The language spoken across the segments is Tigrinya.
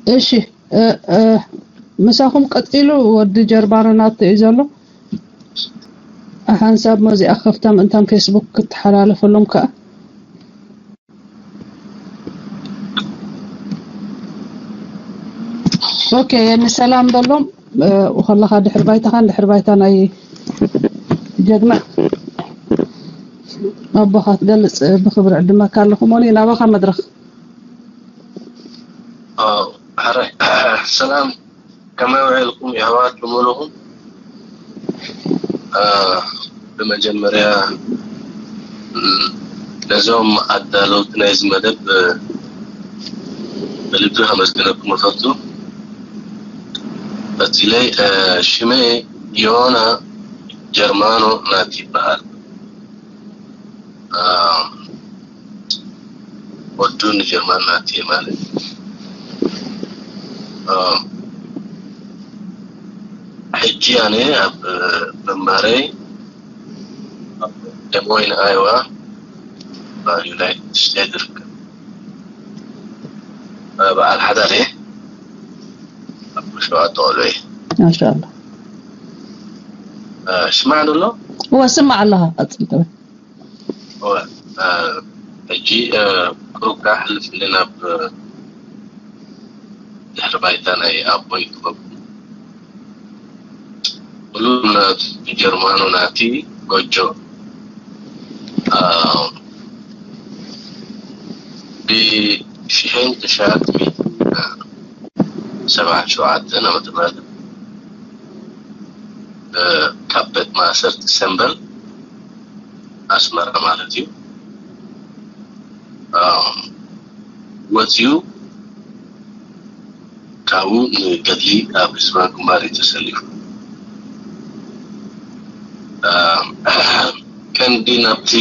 እሺ፣ እ፣ እ፣ ምሳኹም ቀጺሉ። ወዲ ጀርባርናት እዩ ዘሎ። ሓንሳብ መዚኣ ከፍታ ምእንታን ፌስቡክ ክትሓላለፈሎም ከኣ። ኦኬ፣ የኒ ሰላም በሎም። እ፣ ከለኻ ድሕሪ ባይታኻን ድሕሪ ባይታ ናይ ጀግና ኣቦኻ ትገልጽ ብኽብሪ ዕድመካ ኣለኹ። ሞኒ፣ ናባኻ መድረኽ። ኣዎ፣ ሕራይ። ሰላም፣ ከመይ ውዒልኩም የሕዋት ብምሉኹም? እ፣ ብመጀመርያ፣ እ፣ ነዞም ኣዳለውቲ ናይዚ መደብ፣ እ፣ ብልቢ ከመስግነኩም እፈቱ። ቀጺለይ፣ እ፣ ሽመይ ዮና ጀርማኖ ናቲ ይበሃል። እ፣ ወዱ ንጀርመን ናቲ ማለት። እ፣ ሕጂ ኣነ ኣብ ምንባረይ ኣብ ደሞይን ኣይዋ ኣብ ዩናይትድ ስቴትስ ይርከብ። እ፣ በዓል ሓዳር እየ። ኣብ ሸውዓተ ቆልዑ እየ። ማሻኣላ። እ፣ ስማዕ ኣሎ? እወ፣ ስማዕ ኣለኻ። ቀጽል ትብል። እወ፣ እ፣ ሕጂ፣ እ፣ ቁሩብ ከኣ ሕልፍ ኢለ ናብ፣ እ፣ ድሕሪ ባይታ ናይ ኣቦይ ክኸብኩ። ኩሉ ናቱ ጀርማኑ ናቲ ጎጆ፣ እ፣ ብሽሕን ትሽዓተ ሚእትን ሰብዓን ሸውዓተን ዓመተ ምህረት፣ እ፣ ካብ ቤት ማእሰርቲ ሰምበል ኣስመራ ማለት እዩ፣ እ፣ ወፂኡ ካብኡ ንገድሊ ኣብ ህዝባዊ ግንባር እዩ ተሰሊፉ። እ፣ ቀንዲ ናብቲ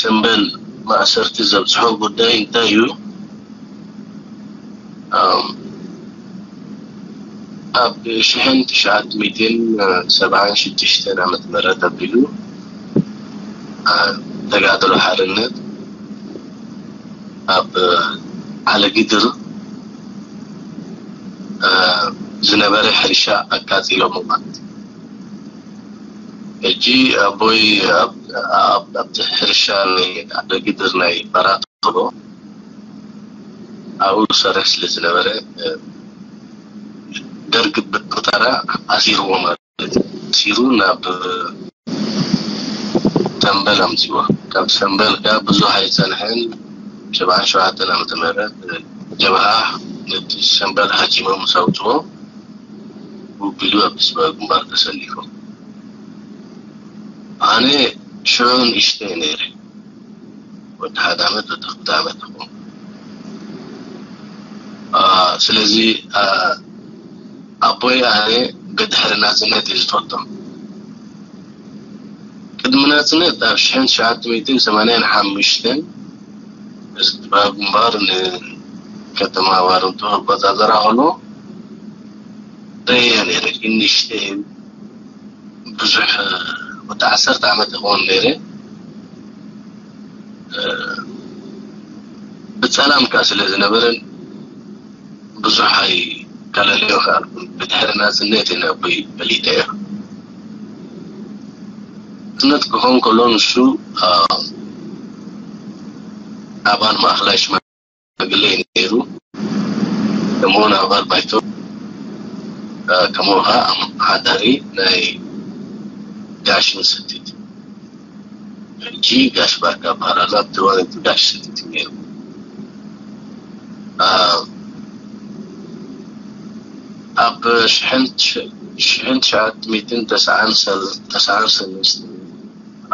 ሰምበል ማእሰርቲ ዘብፅሖ ጉዳይ እንታይ እዩ? እ፣ ኣብ ሽሕን ትሽዓተ ሚእትን ሰብዓን ሽዱሽተን ዓመተ ምህረት ኣቢሉ፣ እ፣ ተጋድሎ ሓርነት ኣብ ዓለጊድር፣ እ፣ ዝነበረ ሕርሻ ኣቃጺሎሞ ማለት እዩ። ሕጂ ኣቦይ ኣብ፣ ኣብ፣ ኣብቲ ሕርሻ ናይ ዓለጊድር ናይ በራትሮ ኣብኡ ዝሰርሕ ስለ ዝነበረ፣ እ፣ ደርግ ብቁጠራ ኣሲርዎ ማለት እዩ። ኣሲሩ ናብ ሰምበል ኣምጺዎ። ካብ ሰምበል ከኣ ብዙሕ ኣይጸንሐን፣ ሰብዓን ሸውዓተን ዓመተ ምህረት ጀብሃ ነቲ ሰምበል ሃጂሞም ምስ ኣውጽዎ፣ ውቢሉ ኣብ ህዝባዊ ግንባር ተሰሊፎም። ኣነ ሽዑ ንእሽተይ ነይረ። ወዲ ሓደ ዓመት፣ ወዲ ክልተ ዓመት ይኸውን። አ፣ ስለዚ፣ አ፣ ኣቦይ ኣነ ብድሕሪ ናጽነት እዩ ዝፈልጦ። ቅድሚ ናጽነት ኣብ ሽሕን ትሽዓተ ሚእትን ሰማንያን ሓሙሽተን ህዝባዊ ግንባር ንከተማ ባረንቱ ክቆጻጸራ ከሎ ርእየ ነይረ። ግን ንእሽተይ ብዙሕ፣ ወዲ ዓሰርተ ዓመት ይኸውን ነይረ። እ፣ ብጸላም ከኣ ስለ ዝነበረን ብዙሕ ኣይከለለዮ ከኣልኩን። ብድሕሪ ናጽነት እየ ነቦይ ፈሊጠዮ። ናጽነት ክኸውን ከሎ ንሱ፣ እ፣ ኣባል ማእከላይ ሽማግለ እዩ ነይሩ። ከምኡውን ኣባል ባይቶ፣ እ፣ ከምኡ ኸዓ ኣመሓዳሪ ናይ ጋሽ ምሰቲት፣ ሕጂ ጋሽ ባርካ በሃል ኣሎ። ኣብቲ እዋን እቲ ጋሽ ሰቲት እዩ ነይሩ። እ፣ ኣብ ሽሕን፣ ሽሕን ትሽዓተ ሚእትን ተስዓን ሰል-፣ ተስዓን ሰለስተን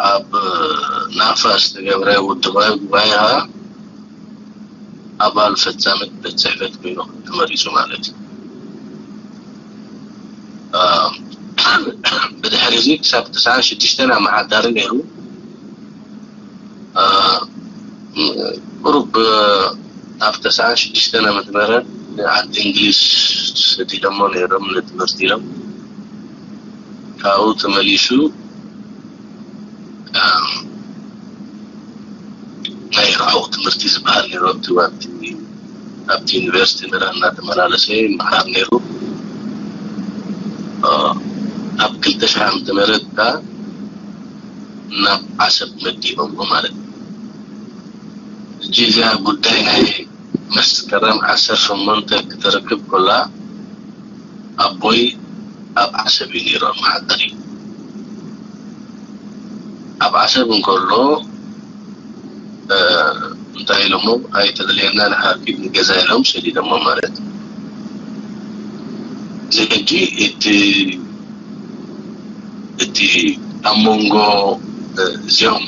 ኣብ ናፋ ዝተገብረ ውድባዊ ጉባኤ ኸዓ ኣባል ፈጻሚት ቤት ጽሕፈት ኮይኑ ተመሪጹ ማለት እዩ። እ፣ ብድሕሪ እዚ ክሳብ ተስዓን ሽዱሽተን ኣመሓዳሪ ነይሩ። እ፣ ቁሩብ ኣብ ተስዓን ሽዱሽተን ዓመተ ምህረት ንዓዲ እንግሊዝ ሰዲዶሞ ነይሮም ንትምህርቲ ኢሎም። ካብኡ ተመሊሱ፣ እ፣ ናይ ርሑቕ ትምህርቲ ዝበሃል ነይሩ ኣብቲ እዋን እቲ ኣብቲ ዩኒቨርሲቲ መራ እናተመላለሰ ይመሃር ነይሩ። ኣብ ክልተ ሽሕ ዓመተ ምህረት ከኣ ናብ ዓሰብ መዲቦምዎ ማለት እዩ። ሕጂ እዚኣ ጉዳይ ናይ መስከረም ዓሰርተ ሸሞንተ ክትርክብ ከላ ኣቦይ ኣብ ዓሰብ እዩ ነይሩ፣ ኣመሓዳሪ። ኣብ ዓሰብ እንከሎ እንታይ ኢሎሞ፣ ኣይተደልየና ንሓኪም ንገዛ ኢሎም ሰዲዶሞ ማለት እዩ። እዚ ሕጂ እቲ እቲ ኣብ መንጎ እዚኦም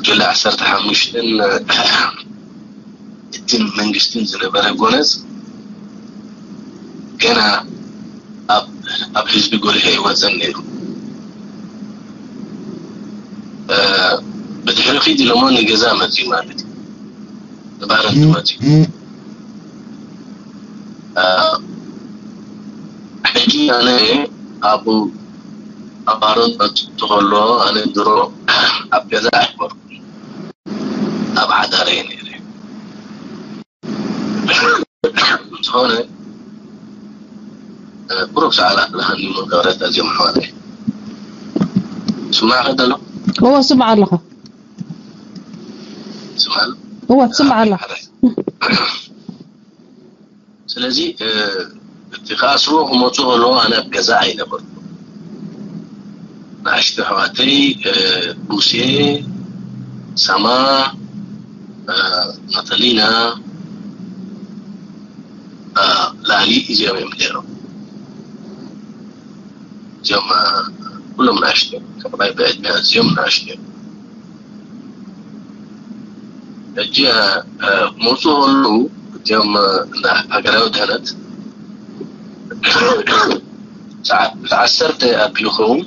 ጅለ ዓሰርተ ሓሙሽተን እቲ መንግስትን ዝነበረ ጎነጽ ገና ኣብ ህዝቢ ጎሊሑ ኣይወፀን ነይሩ። ብድሕሪ ኪድ ኢሎሞ ንገዛ መፅዩ ማለት እዩ። ንባህረን መፅዩ። ሕጂ ኣነ ኣብኡ ኣብ ባሮን መፅኡ ከሎ ኣነ ድሮ ኣብ ገዛ ኣይነበርኩ ኣብ ሓዳረ እየ ነይረ። ዝኾነ ብሩክ ሰዓላ ብርሃን ይመገረት ኣዝዮም ኣሕዋተይ። ስማዕ ከደሎ እወ ስምዓ ኣለኹ። ስማዕ እወ ትስምዓ ኣለኹ። ስለዚ እቲ ከኣስርዎ ክመፁ ከለዉ ኣነ ኣብ ገዛ ኣይነበርኩ። ንኣሽቱ ኣሕዋተይ ሙሴ፣ ሳማ፣ ናታሊና፣ ላሊ እዚኦም እዮም ነይሮም። እዚኦም ኩሎም ንኣሽቱ እዮም። ከማይ ብዕድመ ኣዝዮም ንኣሽቱ እዮም። ሕጂ ክመፁ ከለዉ እዚኦም ሃገራዊ ድሕነት ሰዓት ዓሰርተ ኣቢሉ ኸውን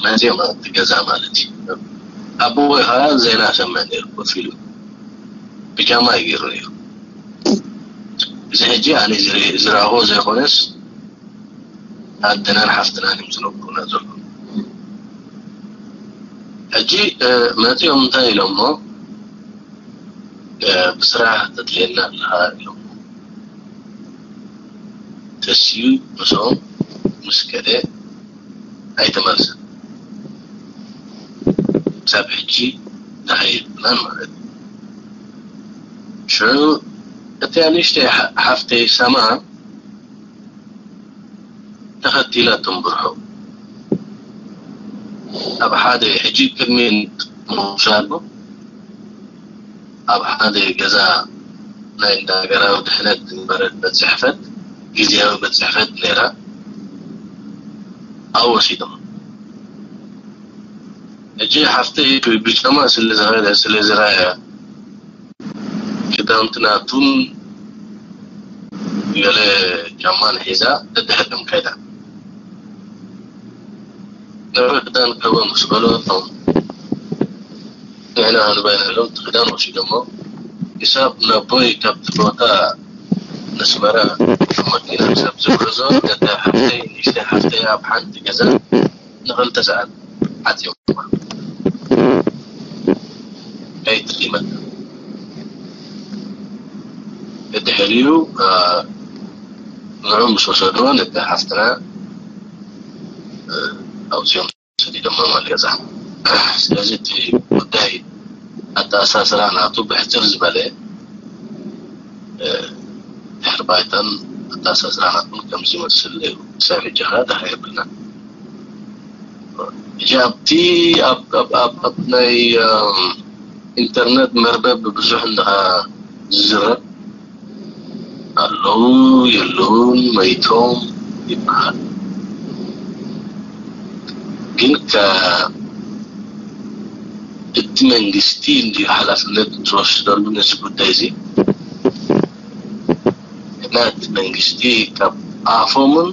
መፅኦም ኣብቲ ገዛ ማለት እዩ። ኣቦይ ከዓ ዜና ሰምዕ ነይሩ ኮፍ ኢሉ ብጃማ እዩ ገይሩ ነይሩ። እዚ ሕጂ ኣነ ዝረእኹ ዘይኮነስ ኣደናን ሓፍትናን እዮም ዝነግሩና ዘለዉ። ሕጂ መፂኦም እንታይ ኢሎሞ ብስራሕ ተድልየና ኣለኻ ኢሎም ተስዩ ምስኦም ምስ ከደ ኣይተመልሰን። ክሳብ ሕጂ ደሃይ የብልናን ማለት እዩ። ሽዑ እቲኣ ንእሽተይ ሓፍተይ ሰማ ተኸቲላ ትንብርሖ ኣብ ሓደ ሕጂ ቅድሚ ምውሳዱ ኣብ ሓደ ገዛ ናይ እንዳ ሃገራዊ ድሕነት ዝነበረት ቤት ጽሕፈት ግዝያዊ ቤት ጽሕፈት ነይራ። ኣብኡ ወሲዶም። ሕጂ ሓፍተይ ብጫማ ስለ ዝኸደ ስለ ዝረኣያ ክዳውንቲ ናቱን ገለ ጫማን ሒዛ ደድሕሪኦም ከይዳ። ነብሪ ክዳን ክህቦ ምስ በለቶም ንሕና ክንበና ኢሎም እቲ ክዳን ወሲዶሞ ክሳብ ነቦይ ካብቲ ቦታ ነስመራ ብመኪና ክሳብ ዝጉዕዞ ነታ ሓፍተይ ንእሽተይ ሓፍተይ ኣብ ሓንቲ ገዛ ንኽልተ ሰዓት ዓጽዮማ ኣይትሪመን። ድሕሪኡ ንዑ ምስ ወሰድዎ ነቲ ሓፍትና ኣውፅኦም ሰዲዶሞ ማለት ገዛ። ስለዚ እቲ ጉዳይ ኣተኣሳስራ ናቱ ብሕፅር ዝበለ ድሕሪ ባይታን ኣተኣሳስራ ናቱን ከምዚ ይመስል ነይሩ። ክሳብ ሕጂ ኸዓ ደሃይ የብልናን። ሕጂ ኣብቲ ኣብ ናይ ኢንተርነት መርበብ ብብዙሕ እንድኻ ዝዝረብ ኣለዉ የለዉን መይቶም ይበሃል። ግን እቲ መንግስቲ እንድዩ ሓላፍነት ዝወስደሉ ነዚ ጉዳይ እዚ። እና እቲ መንግስቲ ካብ ኣፎምን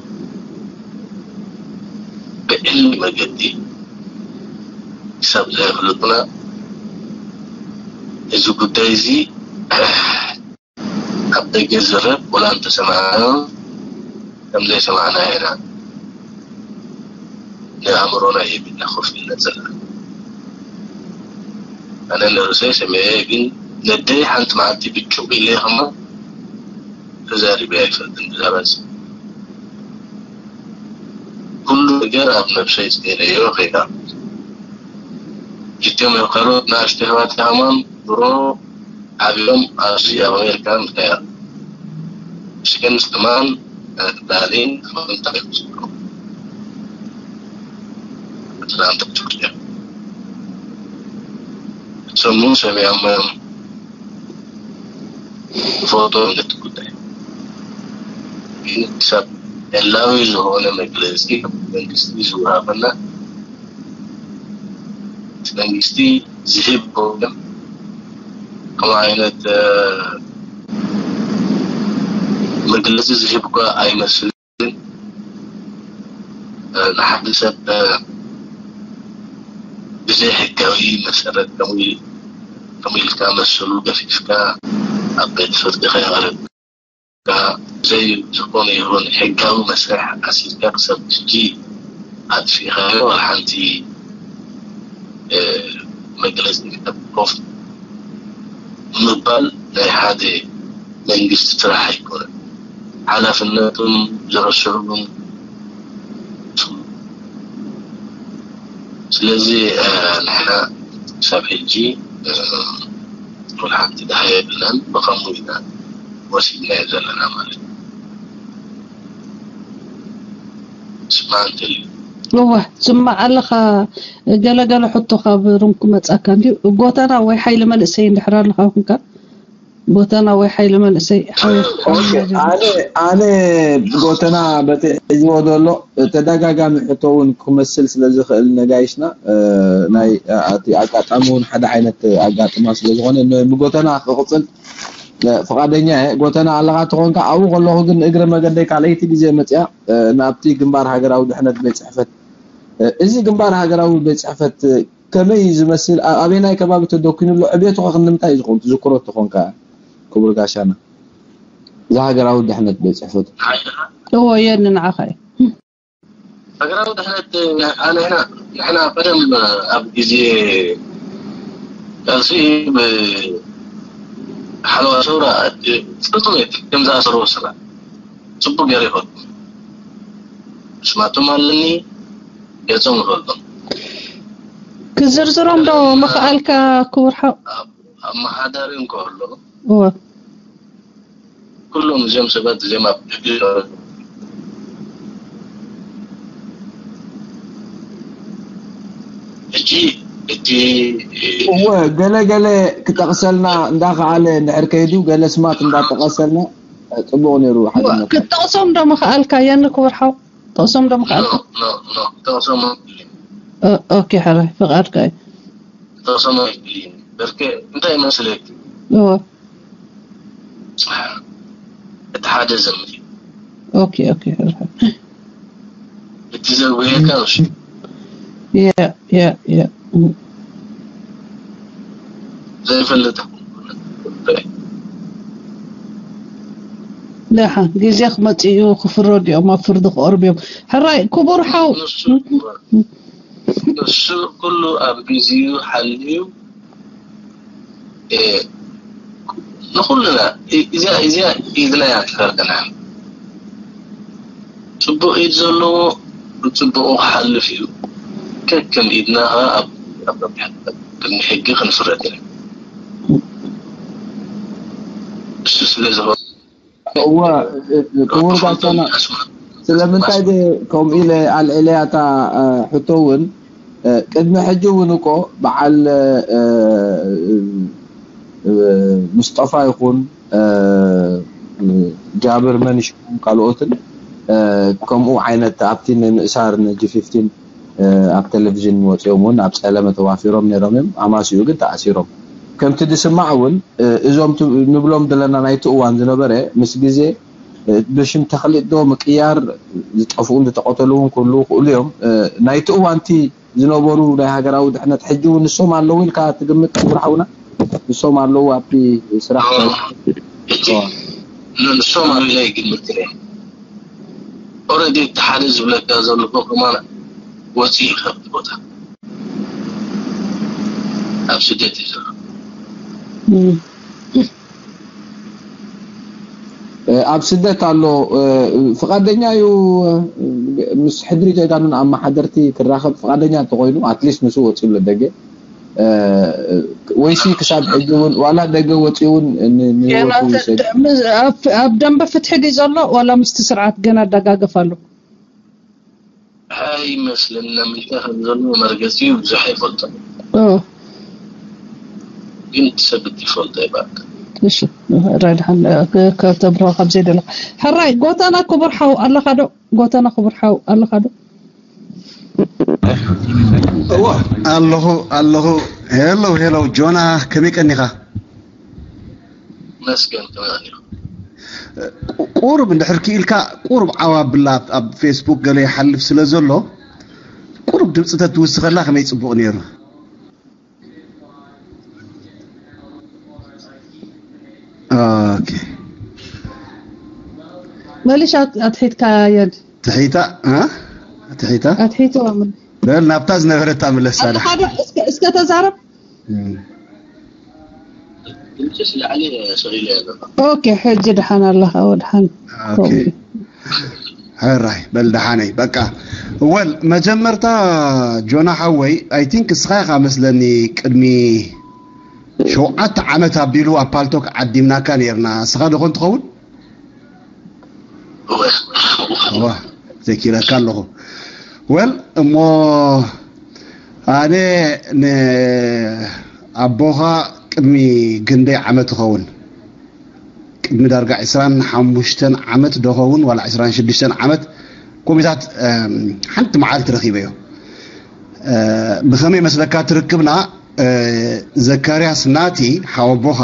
ብዕሊ መገዲ ክሳብ ዘየፍልጡና እዚ ጉዳይ እዚ ኣብ ደገ ዝረብ ወላ እንተሰማዕናዮ ከም ዘይሰማዕናዮ ኢና ንኣእምሮና ሂብና ኮፍ ኢልና ዘለና። ኣነ ንርእሰይ ሰሚዐ፣ ግን ነደይ ሓንቲ መዓልቲ ብጭቕ ኢለ ከማ ተዛሪበ ኣይፈልጥን ብዛዕባ እዚ። ኩሉ ነገር ኣብ ነብሰይ ጽዒነዮ ከይዳ። እቶም ካልኦት ንኣሽቱ ኣሕዋተይ ከማን ድሮ ዓብዮም ኣብዚ ኣብ ኣሜሪካ ምኽያድ ሽክን ስማን ዳሊን እንታይ ይመስሉ? ኣትላንታ ጆርጅያ። ሰሙ ሰሚያም ፎቶ እንደት ጉዳይ ግን ሰብ ዕላዊ ዝኾነ መግለጺ መንግስቲ ዝወሃበና መንግስቲ ዝህብ ከሆነ ከም ዓይነት መግለጺ ዝህብ እኳ ኣይመስልን። ንሓደ ሰብ ብዘይ ሕጋዊ መሰረት ከምኡ ኢልካ መሰሉ ገፊፍካ ኣብ ቤት ፍርዲ ከይቐርብ ብዘይ ዝኾነ ይኹን ሕጋዊ መስርሕ ኣሲርካ ክሳብ ሕጂ ኣጥፊእካዮ ዋላ ሓንቲ መግለፂ ኮፍ ምባል ናይ ሓደ መንግስቲ ስራሕ ኣይኮነን። ሓላፍነቱን ዝረስዑ እውን ስለዚ ንሕና ክሳብ ሕጂ ወላ ሓንቲ ደሃ የብልናን። ብኸምኡ ኢና ወሲድናዮ ዘለና ማለት እዩ። ስማዕ እንተልዩ እወ፣ ስማዕ ኣለኻ። ገለገለ ሕቶ ካብ ሩም ክመጻካ እንድዩ። ጎተና ወይ ሓይሊ መንእሰይ እንድሕር ኣለኻ ኮንካ፣ ጎተና ወይ ሓይሊ መንእሰይ ሓቢርካ ኦኬ፣ ኣነ ኣነ ጎተና በቲ ሒዝዎ ዘሎ ተደጋጋሚ ሕቶ እውን ክመስል ስለ ዝኽእል ነጋይሽና፣ እ፣ ናይ እቲ ኣጋጣሚ እውን ሓደ ዓይነት ኣጋጥማ ስለ ዝኾነ ን-፣ ንጎተና ክቕጽል ፍቓደኛ እየ። ጎተና ኣለኻ ተኾንካ ኣብኡ ከለኹ ግን እግረ መገደይ ካልኣይቲ ግዜ መፅያ ናብቲ ግንባር ሃገራዊ ድሕነት ቤት ፅሕፈት፣ እዚ ግንባር ሃገራዊ ቤት ፅሕፈት ከመይ እዩ ዝመስል? ኣበየናይ ከባቢ ተደኪኑ ኣሎ? ዕብየቱ ከ ክንደምንታይ እዩ ዝኸውን? ትዝክሮ ተኾንካ ክቡር ጋሻና እዚ ሃገራዊ ድሕነት ቤት ፅሕፈቱ። እዎ የኒ ንዓኻ እዩ። ሃገራዊ ድሕነት ኣነ ሕና ንሕና ቀደም ኣብ ግዜ ቃልሲ ብሓለዋ ሰውራ ጽንቶም እየ ከም ዝኣሰርዎ ስላ ጽቡቅ ገይረ ይፈልጡ። ስማቶም ኣለኒ፣ ገጾም ይፈልጦም። ክዝርዝሮም ዶ ምኽኣልካ ክቡር ሓው? ኣብ ኣመሓዳሪ እንከሎ እወ። ኩሎም እዚኦም ሰባት እዚኦም ኣብ ሕጂ ሕጂ እቲ እወ፣ ገለ ገለ ክጠቕሰልና እንዳኸኣለ እንድሕር ከይዱ፣ ገለ ስማት እንዳጠቐሰልና ጽቡቕ ነይሩ። ሓደ እወ፣ ነገር። ክትጠቕሶም ዶ ምኽኣልካ? የኒ ክቡር ሓው፣ ጠቕሶም ዶ ምኽኣልካ? ኖ፣ ኖ፣ ኖ፣ ክጠቕሶም ኣይክእልን። ኦ-፣ ኦኬ፣ ሕራይ፣ ፍቓድካ እዩ። ክጠቕሶም ኣይክእልን። በርኬ፣ እንታይ መስለክ? እወ። እቲ ሓደ ዘምት እዩ። ኦኬ፣ ኦኬ፣ ሕራይ። እቲ ዘጉየካ እሺ። ያ፣ ያ፣ ያ። ዘይፈልጥ ደሓን ግዜ ክመጽእ እዩ፣ ክፍረዱ እዮም፣ ኣብ ፍርዲ ክቐርቡ እዮም። ሕራይ፣ ክቡር ሓው። ንሱ፣ ንሱ ኩሉ ኣብ ግዜኡ ሓልዩ፣ እ፣ ንኹልና፣ እ፣ እዚኣ፣ እዚኣ ኢድና እያ ትፈርደና። ጽቡቕ ኢድ ዘለዎ ብጽቡቑ ክሓልፍ እዩ። ከከም ኢድና ኸኣ ኣብ፣ ኣብ ቅድሚ ሕጊ ክንፍረድ ኢና። እሱ ስለ ዝኾነ እወ፣ ክቡር ጋሻና፣ ስለምንታይ ድ-፣ ከምኡ ኢለ ኣልዒለያ እታ፣ እ፣ ሕቶ እውን፣ እ፣ ቅድሚ ሕጂ እውን እኮ በዓል፣ እ፣ እ፣ ሙስጠፋ ይኹን፣ እ፣ ጃብር መንሽ ይኹን ካልኦትን፣ እ፣ ከምኡ ዓይነት ኣብቲ ንምእሳር ንጂ ፊፍቲን፣ እ፣ ኣብ ቴሌቪዥን ወፂኦም እውን ኣብ ፀለመ ተዋፊሮም ነይሮም እዮም። ኣማስኡ ግን ተኣሲሮም። ከምቲ ዝስማዕ እውን፣ እ፣ እዞም ት-፣ ንብሎም ዘለና ናይቲ እዋን ዝነበረ ምስ ግዜ፣ እ፣ ብሽም ተኽሊጥ ዶ ምቅያር ዝጠፍኡን ዝተቐተሉ እውን ክህልዉ ይኽእሉ እዮም። እ፣ ናይቲ እዋንቲ ዝነበሩ ናይ ሃገራዊ ድሕነት ሕጂ እውን ንሶም ኣለዉ ኢልካ ትግምት ክቡር ሓውና? ንሶም ኣለዉ ኣብቲ ስራሕ? ኖ፣ ኖ፣ ኖ። እቲ ኦ። ን-፣ ንሶም ኣለዉ ኢለ ይግምት እየ። ኦልሬዲ እቲ ሓደ ዝብለካ ዘለኹ ከማን ወፂኡ እዩ ካብቲ ቦታ። ኣብ ስደት እዩ ዘሎ። ኣብ ስደት ኣሎ። ፍቓደኛ እዩ ምስ ሕድሪ ጀጋኑን ኣመሓደርቲ ክራኸብ ፍቓደኛ እንተኾይኑ፣ ኣትሊስት ንሱ ወፂኡ ኣሎ ደገ። ወይሲ ክሳብ ሕጂ እውን ዋላ ደገ ወፂኡ እውን ንህይወቱ ይሰግ ኣብ ደንበ ፍትሒ ድዩ ዘሎ ዋላ ምስቲ ስርዓት ገና ኣደጋገፍ ኣሎ? ኣይመስለና ምንታይ ከም ዘሎ መርገፂ ብዙሕ ኣይፈልጦን። ግን እቲ ሰብ እቲ ይፈልጦ ይባል። እሺ፣ ሕራይ ድሓን ከተብርሆ ካብ ዘይደለ። ሕራይ ጎተና ክቡር ሓው ኣለኻ ዶ? ጎተና ክቡር ሓው ኣለኻ ዶ? እዋ ኣለኹ ኣለኹ። ሄሎ ሄሎ፣ ጆና ከመይ ቀኒኻ? መስገን ከመይ ቀኒኻ? ቁሩብ እንድሕር ክኢልካ ቁሩብ ዓው ኣብላ፣ ኣብ ፌስቡክ ገለ ይሓልፍ ስለ ዘሎ ቁሩብ ድምፂ ተትውስኸላ ከመይ ፅቡቕ ነይሩ። ኦኬ። መሊሽ ኣት- ኣትሒትካ የድ ትሒታ እ? ትሒታ ኣትሒትዋ ምን በል ናብታ ዝነበረታ ምለሳ ዳ ሓደ እስከ እስከ ተዛረብ። እም። ድምፅስ ላዕሊ ሰሪለ ዘሎ። ኦኬ፣ ሕጂ ድሓን ኣለኻ ወድሓን። ኦኬ። ሕራይ በል ደሓነይ በቃ። ወል መጀመርታ ጆና ሓወይ፣ ኣይ ቲንክ እስኻ ኢኻ መስለኒ ቅድሚ ሸውዓተ ዓመት ኣቢሉ ኣብ ፓልቶክ ዓዲምናካ ነርና። እስኻ ዶ ኾን ትኸውን? ዋ፣ ዘኪረካ ኣለኹ። ወል እሞ ኣነ ንኣቦኻ ቅድሚ ግንደይ ዓመት ይኸውን፣ ቅድሚ ዳርጋ ዕስራን ሓሙሽተን ዓመት ዶ ኸውን ዋላ ዕስራን ሽዱሽተን ዓመት ኮሚታት ሓንቲ መዓልቲ ረኺበዮ። ብኸመይ መስለካ ትርክብና? ዘካርያስ ናቲ ሓወቦኻ፣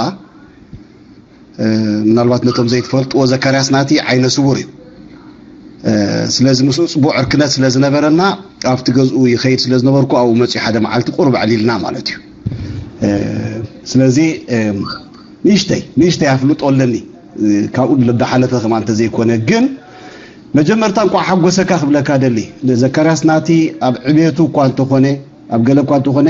ምናልባት ነቶም ዘይትፈልጥዎ፣ ዘካርያስ ናቲ ዓይነ ስውር እዩ። ስለዚ ምስኡ ፅቡቅ ዕርክነት ስለ ዝነበረና ኣብቲ ገዝኡ ይኸይድ ስለ ዝነበርኩ ኣብኡ መፅኡ ሓደ መዓልቲ ቁሩብ ኣዕሊልና ማለት እዩ። ስለዚ ንእሽተይ ንእሽተይ ኣፍልጦ ኣለኒ፣ ካብኡ ዝሓለፈ ከማ እንተዘይኮነ። ግን መጀመርታ እንኳዕ ሓጎሰካ ክብለካ ደሊ። ዘካርያስ ናቲ ኣብ ዕቤቱ እኳ እንተኾነ፣ ኣብ ገለ እኳ እንተኾነ፣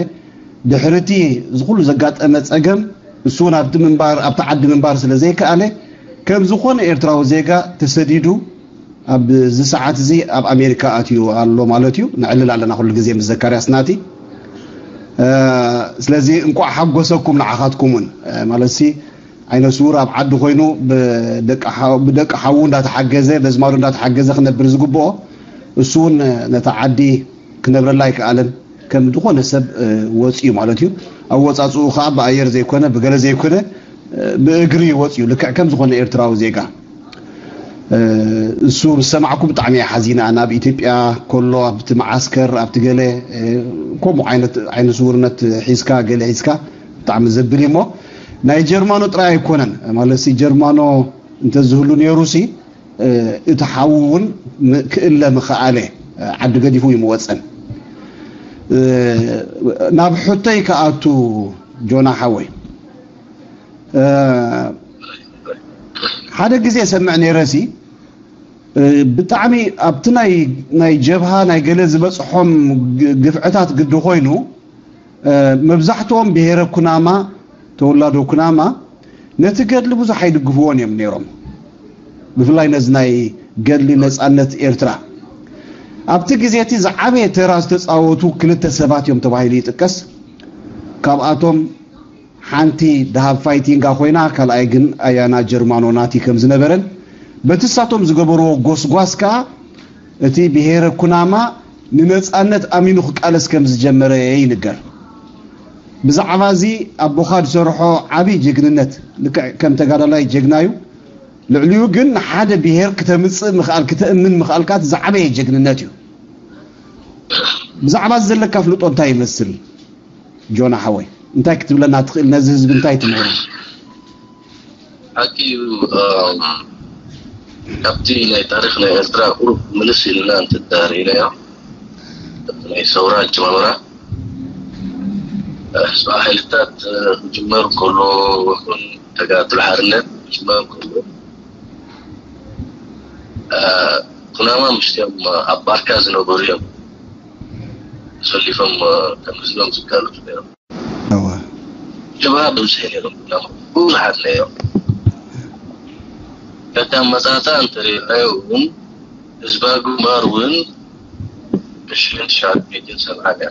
ድሕሪ እቲ እዚ ኩሉ ዘጋጠመ ፀገም እሱ እውን ኣብቲ ምንባር ኣብቲ ዓዲ ምንባር ስለ ዘይከኣለ ከም ዝኾነ ኤርትራዊ ዜጋ ተሰዲዱ ኣብዚ ሰዓት እዚ ኣብ ኣሜሪካ ኣትዩ ኣሎ ማለት እዩ። ነዕልል ኣለና ኩሉ ግዜ ምስ ዘካርያስ ናቲ። ስለዚ እንቋዕ ሓጎሰኩም ንዓኻትኩም እውን ማለት ሲ ዓይነ ስውር ኣብ ዓዲ ኮይኑ ብደቂ ሓው- ብደቂ ሓዉ እንዳተሓገዘ በዝማዱ እንዳተሓገዘ ክነብር ዝግብኦ እሱ እውን ነታ ዓዲ ክነብረላ ኣይከኣለን። ከም ዝኾነ ሰብ ወፂኡ ማለት እዩ። ኣወፃፅኡ ከዓ ብኣየር ዘይኮነ ብገለ ዘይኮነ ብእግሪ ወፂኡ ልክዕ ከም ዝኾነ ኤርትራዊ ዜጋ። እሱ ምስ ሰማዕኩ ብጣዕሚ እየ ሓዚነ። ናብ ኢትዮጵያ ከሎ ኣብቲ መዓስከር ኣብቲ ገለ ከምኡ ዓይነት ዓይነ ስውርነት ሒዝካ ገለ ሒዝካ ብጣዕሚ ዘብል እዩ። እሞ ናይ ጀርማኖ ጥራይ ኣይኮነን ማለት ሲ ጀርማኖ እንተዝህሉ ነይሩ ሲ እቲ ሓዉ እውን ክእለ ምኸኣለ ዓዲ ገዲፉ እዩ ምወፀን። ናብ ሕቶይ ክኣቱ ጆና ሓወይ ሓደ ግዜ ሰምዕ ነይረ ሲ ብጣዕሚ ኣብቲ ናይ ናይ ጀብሃ ናይ ገለ ዝበፅሖም ግፍዕታት ግዲ ኮይኑ መብዛሕትኦም ብሄረ ኩናማ ተወላዶ ኩናማ ነቲ ገድሊ ብዙሕ ኣይድግፍዎን እዮም ነይሮም። ብፍላይ ነዚ ናይ ገድሊ ነፃነት ኤርትራ ኣብቲ ግዜ እቲ ዝዓበየ ተራ ዝተፃወቱ ክልተ ሰባት እዮም ተባሂሉ ይጥቀስ። ካብኣቶም ሓንቲ ደሃብ ፋይቲንጋ ኮይና ካልኣይ ግን ኣያና ጀርማኖ ናቲ ከም ዝነበረን በቲ ሳቶም ዝገበርዎ ጎስጓስ ከኣ እቲ ብሄረ ኩናማ ንነፃነት ኣሚኑ ክቃለስ ከም ዝጀመረ ይንገር። ብዛዕባ እዚ ኣቦኻ ዝሰርሖ ዓብዪ ጀግንነት ልክዕ ከም ተጋዳላይ ጀግና እዩ። ልዕሊኡ ግን ንሓደ ብሄር ክተምፅእ ምኽኣል ክተእምን ምኽኣልካ እቲ ዝዓበየ ጀግንነት እዩ። ብዛዕባ እዚ ዘለካ ፍልጦ እንታይ ይመስል? ጆና ሓወይ እንታይ ክትብለና ትኽእል? ነዚ ህዝቢ እንታይ ትምህሮ? ሓቂ እዩ። ካብቲ ናይ ታሪክ ናይ ኤርትራ ቁሩብ ምልስ ኢልና እንትዳርኢናዮ ናይ ሰውራ ኣጀማምራ ስባ ሓይልታት ክጅመር ከሎ ይኹን ተጋድሎ ሓርነት ክጅመር ከሎ ኩናማ ምሽትኦም ኣብ ባርካ ዝነበሩ እዮም ሰሊፎም ከም ህዝቦም ዝጋለፁ ነይሮም። ጀብሃ ብብዝሒ ነይሮም፣ ብዙሓት ነይሮም። ከታ ኣመጻጽኣ እንተሪእናዮ እውን ህዝባዊ ግንባር እውን ብሽሕን ትሽዓተ ሚእትን ሰብዓን እያ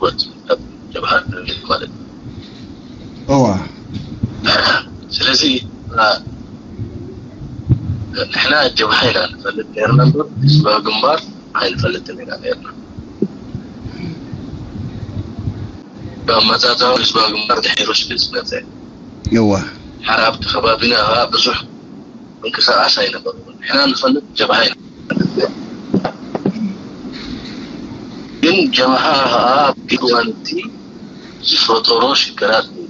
ወፂኡ ካብ ጀብሃ ማለት እዩ። እዋ ስለዚ አ፣ ንሕና ጀብሃ ኢና ንፈልጥ ነርና እምበር ህዝባዊ ግንባር ኣይንፈልጥን ኢና ነርና። ብኣመፃፅኣ ህዝባዊ ግንባር ድሒሩ ስለ ዝመፀ እዋ ሓራ ኣብቲ ከባቢና ከዓ ብዙሕ ምንቅስቃስ ኣይነበርዎን። ንሕና ንፈልጥ ጀብሃ ኢና። ግን ጀብሃ ከዓ ኣብ ግዋንቲ ዝፈጠሮ ሽግራት እዩ።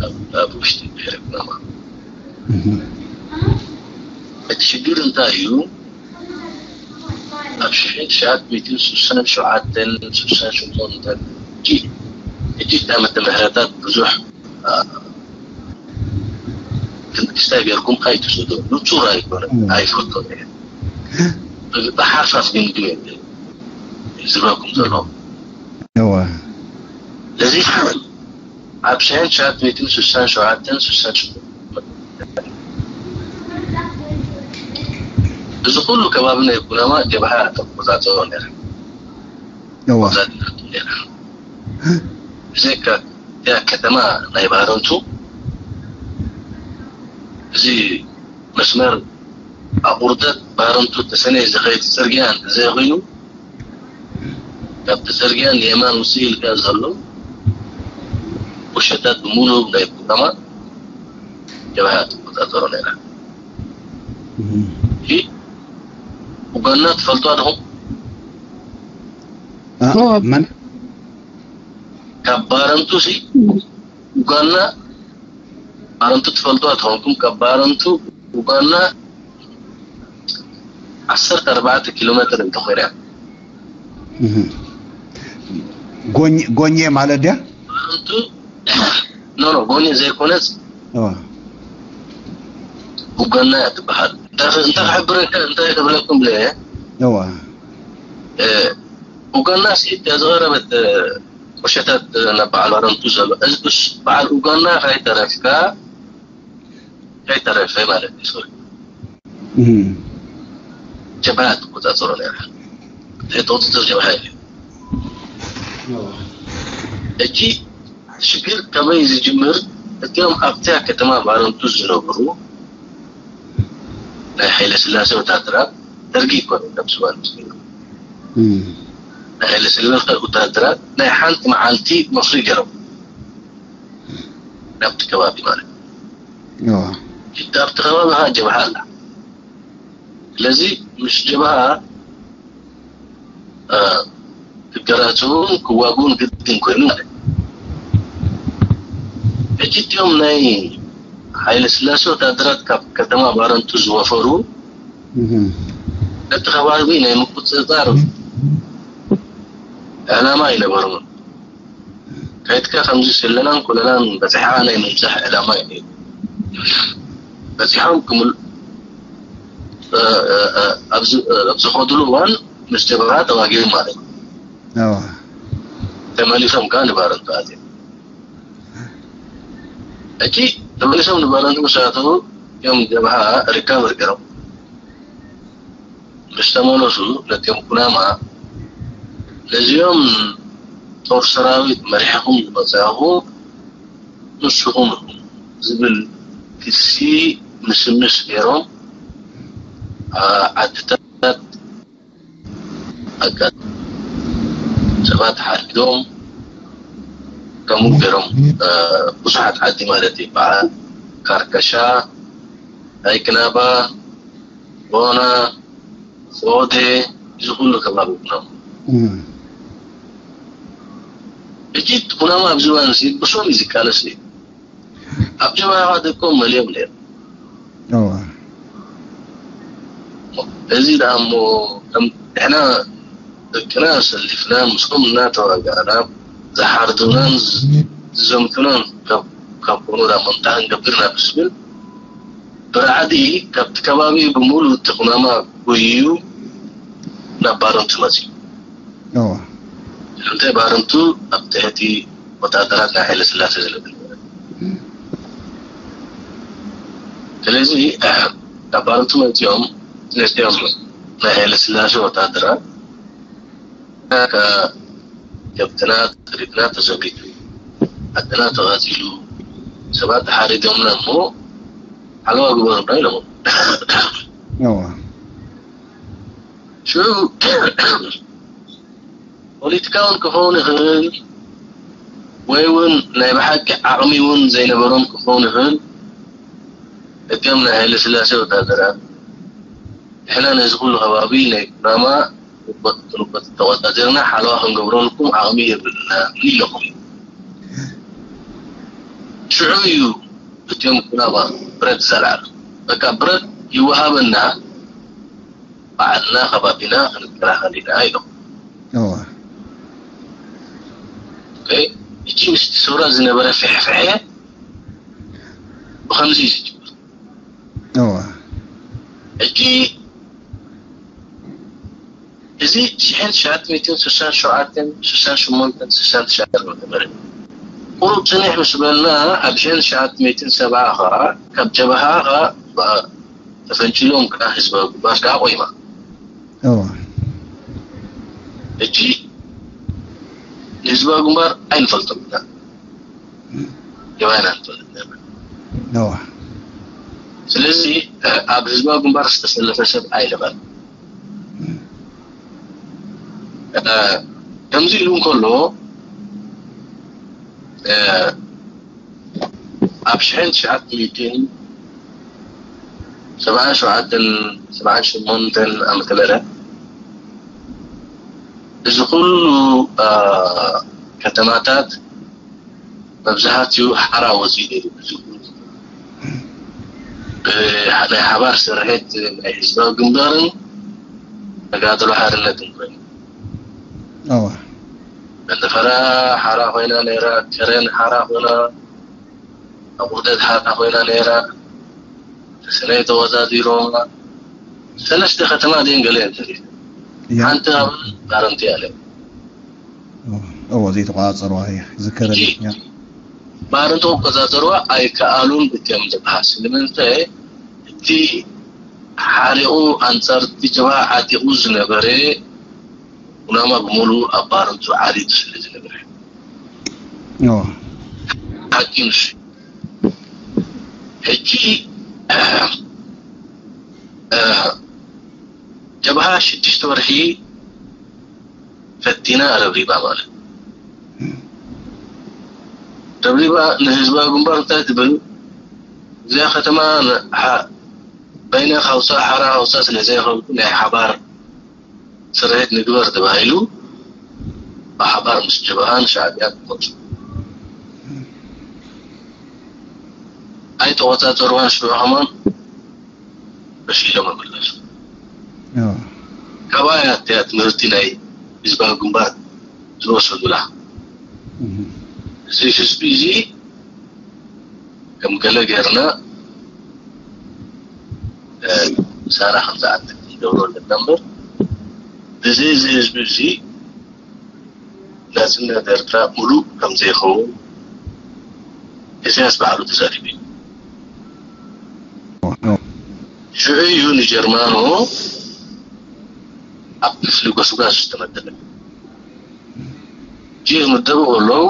ኣብ- ኣብ ውሽጢ ብሄረ ኩናማ እቲ ሽግር እንታይ እዩ? ኣብ ሽሕን ትሽዓተ ሚእትን ስሳን ሸውዓተን ስሳን ሸሞንተን እቲ ዓመተ ምህረታት ብዙሕ ትንክስታይ ገርኩም ኣይትስዶ ንጹር ኣይኮነ ኣይፈልጦ ብሓርፋፍ ግን ግን ዝረኩም ዘሎ እዋ እዚ ኣብ ሸሕን ትሽዓተ ሚእትን ስሳን ሸውዓተን ስሳን እዚ ኩሉ ከባቢ ናይ ኩናማ ጀብሃ ተቆጻጸሮ ነረ እዋ ብዘይካ እቲኣ ከተማ ናይ ባረንቱ እዚ መስመር ኣቑርደት ባረንቱ ተሰነይ ዝኸይድ ፅርግያ እንተዘይኮይኑ ካብቲ ፅርግያ ንየማን ውፅእ ኢልካ ዘሎ ቁሸታት ብምሉእ ናይ ኩናማ ጀብሃ ትቆፃፀሮ ነይራ። ኡጋንዳ ትፈልጦ ኣለኹም? መን ካብ ባረንቱ ሲ ኡጋንዳ ባረንቱ ትፈልጦ ኣለኹም? ካብ ባረንቱ ኡጋንዳ ዓሰርተ ኣርባዕተ ኪሎ ሜትር እንተኾይና ጎኝ ጎኘ ማለት ድያ? ባረንቱ ኖ ኖ ጎኒ ዘይኮነስ ኡጋንዳ እያ ትበሃል። እንታይ እንታይ ክሕብረካ እንታይ ክብለኩም ለ እዋ ኡጋንዳ ሲ እታ ዝቐረበት ቁሸታት ናብ በዓል ባረንቱ ዘሎ እዚ ምስ በዓል ኡጋንዳ ከይተረፍካ ከይተረፈ ማለት እዩ። ሶሪ ጀብሃ ትቆፃፀሮ ነይራ። ናይ ተቆፃፀር ጀብሃ እዩ። ሕጂ ሽግር ከመይ ዝጅምር? እቲኦም ኣብታ ከተማ ባረንቱ ዝነብሩ ናይ ሓይለ ስላሴ ወታደራት ደርጊ ይኮነ ነብስዋን ናይ ሓይለ ስላሴ ወታደራት ናይ ሓንቲ መዓልቲ መስሪ ገይሮም ናብቲ ከባቢ ማለት እዩ። ኣብቲ ከባቢ ከዓ ጀብሃ ኣላ። ስለዚ ምስ ጀብሃ ክገራጽውን ክዋግኡን ግድን ኮይኑ ማለት እዩ። ሕጂ እቲኦም ናይ ሓይለ ስላሴ ወታደራት ካብ ከተማ ባረንቱ ዝወፈሩ ነቲ ከባቢ ናይ ምቁፅፃር ዕላማ ኣይነበርዎን። ከይድካ ከምዚ ስለላን ኮለላን በፂሕኻ ናይ ምብፃሕ ዕላማ እዩ ነይሩ። በፂሖም ክምል ኣብ ዝኸድሉ እዋን ምስ ጀብሃ ተዋጊኦም ማለት እዩ። ተመሊሶም ከዓ ንባረንቱ ኣትዮም። ሕጂ ተመሊሶም ንባረንቱ ምስ ኣተዉ እዮም ጀብሃ ሪካቨር ገይሮም ምስ ተመለሱ ነቲኦም ኩናማ ነዚኦም ጦር ሰራዊት መሪሕኹም ዝመፃኹ ንስኹም ኢኹም ዝብል ክሲ ምስምስ ገይሮም ዓድታት ኣጋ ሰባት ሓሪዶም ከምኡ ገይሮም ብዙሓት ዓዲ ማለት እዩ በዓል ካርከሻ ኣይክናባ ቦና ፎዴ እዚ ኩሉ ከባቢ ኩናማ ሕጂ ኩናማ ኣብዚ እዋን እዚ ብሶም እዩ ዝቃለስ እዩ ኣብ ጀማኻ ደቆም መሊኦም ነይሩ እዚ ደኣ እሞ ንሕና ደቅና ኣሰሊፍና ምስኦም እናተዋጋእና ዝሓርዱናን ዝዘምቱናን ካብ ኮኑ ደኣ እሞ እንታይ ክንገብር ኢና ብዝብል ብራዕዲ ካብቲ ከባቢ ብምሉእ እቲ ኩናማ ጎይዩ ናብ ባረንቱ መፅዩ። እንተ ባረንቱ ኣብ ትሕቲ ወታደራት ናይ ሃይለ ስላሴ ዝነበረ። ስለዚ ካብ ባረንቱ መፂኦም ነዚኦም ናይ ሃይለ ስላሴ ወታደራት ከብትና ጥሪትና ተዘሚቱ፣ ዓድና ተቓፂሉ፣ ሰባት ተሓሪዶምና እሞ ሓለዋ ግበሩና ኢሎም። ሽዑ ፖለቲካውን ክኸውን ይኽእል ወይ እውን ናይ ብሓቂ ዓቕሚ እውን ዘይነበሮም ክኸውን ይኽእል። እቶም ናይ ሃይለ ስላሴ ወታደራት ንሕና ነዚ ኩሉ ከባቢ ናይ ኩናማ ክንቆፃፀርና ሓለዋ ክንገብረልኩም ዓቕሚ የብልና ኢለኹም። ሽዑ እዩ እቲኦም ኩናማ ብረት ዘልዓሉ። በቃ ብረት ይወሃበና፣ ባዕልና ከባቢና ክንከላኸል ኢና ኢሎም። እቺ ምስቲ ሱራ ዝነበረ ፍሕፍሐ ብኸምዚ እዩ ዝጅምር። ሕጂ እዚ ሽሕን ትሽዓተ ሚእትን ስሳን ሸውዓተን ስሳን ሸሞንተን ስሳን ትሽዓተን ነበረ። ቁሩብ ጽንሕ ምስ በልና ኣብ ሽሕን ትሽዓተ ሚእትን ሰብዓ ኸዓ ካብ ጀብሃ ኸዓ ተፈንጭሎም ከዓ ህዝባዊ ግንባር ከዓ ቆይማ። ሕጂ ንህዝባዊ ግንባር ኣይንፈልጦም ኢና። የማና ንፈልጥ ነበር። ስለዚ ኣብ ህዝባዊ ግንባር ዝተሰለፈ ሰብ ኣይነበረ። ከምዚ ኢሉ እንከሎ ኣብ ሽሕን ትሽዓተ ሚእትን ሰብዓን ሸውዓተን ሰብዓን ሸሞንተን ዓመተ ምህረት እዚ ኩሉ ከተማታት መብዛሕትኡ ሓራ ወፂኡ ነይሩ። እዚ ናይ ሓባር ስርሒት ናይ ህዝባዊ ግንባርን ተጋድሎ ሓርነትን ኮይኑ፣ መንደፈራ ሓራ ኮይና ነይራ፣ ከረን ሓራ ኮይና፣ ኣቑርደት ሓራ ኮይና ነይራ፣ ተሰነይ ተወዳዲሮማ። ሰለስተ ከተማ ድን ገለ እንተሪፍ ሓንቲ ኣብ ባረንቲ ያለ እዎ ዘይተቋፀርዋ እያ ዝከረኒ። ባረንቲ ክቆፃፀርዋ ኣይከኣሉን እትዮም ዝበሃል። ስለምንታይ እቲ ሓሪቑ ኣንፃር እቲ ጀብሃ ዓጢቑ ዝነበረ ኩናማ ብምሉኡ ኣብ ባረንቱ ዓሊቱ ስለ ዝነበረ። ሓቂ ንሱ። ሕጂ ጀብሃ ሽዱሽተ ወርሒ ፈቲና ረብሪባ ማለት ረብሪባ ንህዝባዊ ግንባር እንታይ ትብል እዚኣ ከተማ በይነ ካውሳ ሓራ ካውሳ ስለ ዘይኸብኩ ናይ ሓባር ስርሒት ንግበር ተባሂሉ ብሓባር ምስ ጀብሃን ሻዕብያን ተኾንሱ ኣይተቆፃፀርዋን ሽዑ ከማን በሽ ኢሎም መመለሱ። ካብኣ እያ እቲያ ትምህርቲ ናይ ህዝባዊ ግንባር ዝወሰዱላ። እዚ ህዝቢ እዚ ከም ገለ ጌርና ምሳና ከም ዝኣክል ክንገብሮ ኣለና እምበር ብዘይ እዚ ህዝቢ እዚ ናጽነት ኤርትራ ሙሉእ ከም ዘይኸውን ኢሳያስ ባዕሉ ተዛሪቡ እዩ። ሽዑ እዩ ንጀርማኖ ኣብ ክፍሊ ጎስጓስ ዝተመደበ። እቲ ዝምደቡ ከለዉ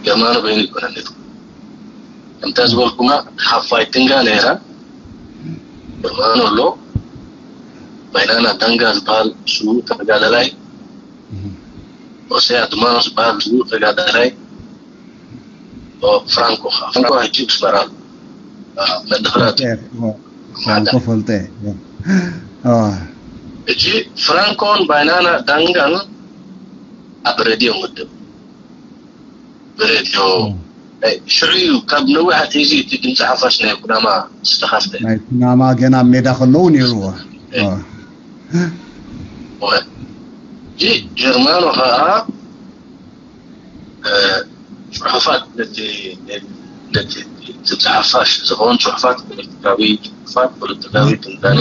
ጀርማኖ በይኑ ይኮነን ነይሩ። ከምታ ዝበልኩማ ሓፋይ ትንጋ ነይራ ጀርማኖ ኣሎ። ባይናና ዳንጋ ዝበሃል ስዉእ ተጋዳላይ፣ ኦሰያ ድማ ዝበሃል ስዉእ ተጋዳላይ፣ ፍራንኮ ፍራንኮ ሕጂ ብስመራ ኣሎ። መድፍራት ፍራንኮ ፈልጠ። ሕጂ ፍራንኮን ባይናና ዳንጋን ኣብ ሬድዮ ምድብ ብሬድዮ ሽዑ እዩ ካብ ነዊሕ ኣትሒዙ እቲ ድምፂ ሓፋሽ ናይ ኩናማ ዝተኸፍተ። ናይ ኩናማ ገና ኣብ ሜዳ ከለዉ ነይርዎ። ሕጂ ጀርማኖ ከዓ ፅሑፋት ነቲ ነቲ ድምፂ ሓፋሽ ዝኸውን ፅሑፋት ፖለቲካዊ ፅሑፋት ፖለቲካዊ ትንታኔ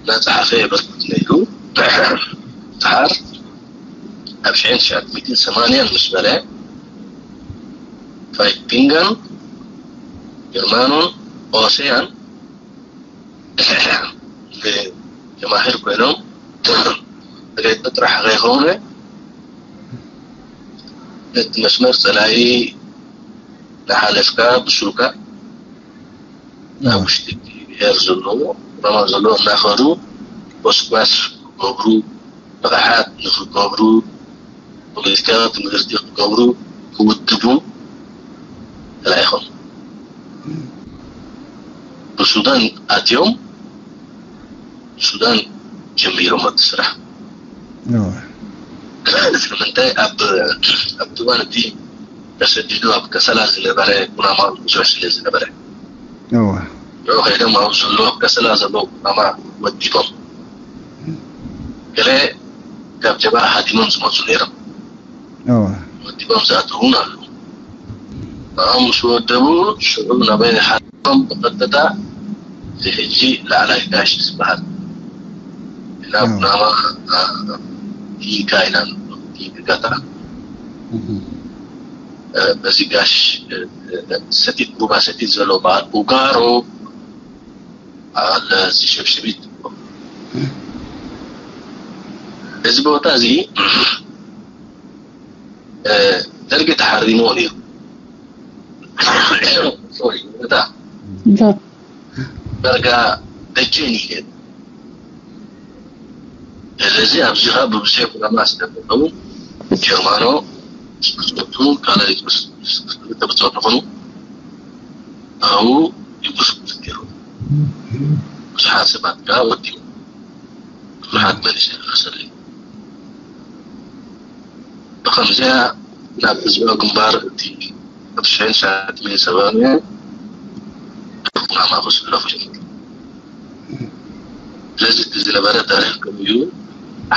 እናፀሓፈ የበርክት ነይሩ። ድሓር ኣብ ሽሕን ትሽዓተ ሚእትን ሰማንያን ምስ በለ፣ ፋይፒንጋን ጀርማኖን ኦሰያን ጀማሂር ኮይኖም፣ ተገይጡ ጥራሕ ከይኮነ፣ ነቲ መስመር ጸላኢ እናሓለፍካ ብሱልካ ናብ ውሽጢ እቲ ብሄር ዘለዎ፣ ኩናማ ዘለዎ እናኸዱ ጎስጓስ ክገብሩ፣ ንቕሓት ንኽገብሩ፣ ፖለቲካዊ ትምህርቲ ክገብሩ፣ ክውድቡ ተላኢኾም። ብሱዳን ኣትዮም፣ ብሱዳን ጀሚሮም እቲ ስራሕ። ንምንታይ ኣብ ኣብቲ እዋን እቲ ተሰዲዱ ኣብ ከሰላ ዝነበረ ኩናማ ብዙሕ ስለ ዝነበረ፣ ንዑ ከይዶም ኣብ ዘሎ ኣብ ከሰላ ዘለዉ ኩናማ ወዲቦም። ገለ ካብ ጀብሃ ሃዲሞም ዝመፁ ነይሮም። ወዲቦም ዝኣተዉ እውን ኣለዉ። ንዖም ምስ ወደቡ፣ ሽዑ ናበይ ሓዲጎም ብቐጥታ እዚ ሕጂ ላዕላይ ጋሽ ዝበሃል ናብ ኩናማ ኢካ ኢና ንብሎ። ኢካ በዚ ጋሽ ሰቲት፣ ቡባ ሰቲት ዘሎ በዓል ኡጋሮ፣ በዓል እዚ ሸብሽቢት፣ እዚ ቦታ እዚ ደርጊ ተሓሪምዎ ነይሩ። ሶሪ፣ እታ ዳርጋ ደጀን እዩ ነይሩ። ስለዚ ኣብዚ ኸዓ ብብዝሒ ኩናማ ስለዘለዉ፣ ጀርማኖ ምስ ብጾቱ፣ ካልኣይ ምስ፣ ምስ ክልተ ብጾቱ ኾኑ፣ ኣብኡ ይጉስጉስ ነይሩ። ብዙሓት ሰባት ከኣ ወዲኡ። ብዙሓት መሊሰ ክኸሰል እዩ። ብኸምዚኣ ናብ ህዝባዊ ግንባር እቲ ኣብ ሽሕን ትሽዓተ ሚእትን ሰብዓን ኩናማ ክስለፉ ጀሚሩ። ስለዚ እቲ ዝነበረ ታሪኽ ከምኡ እዩ።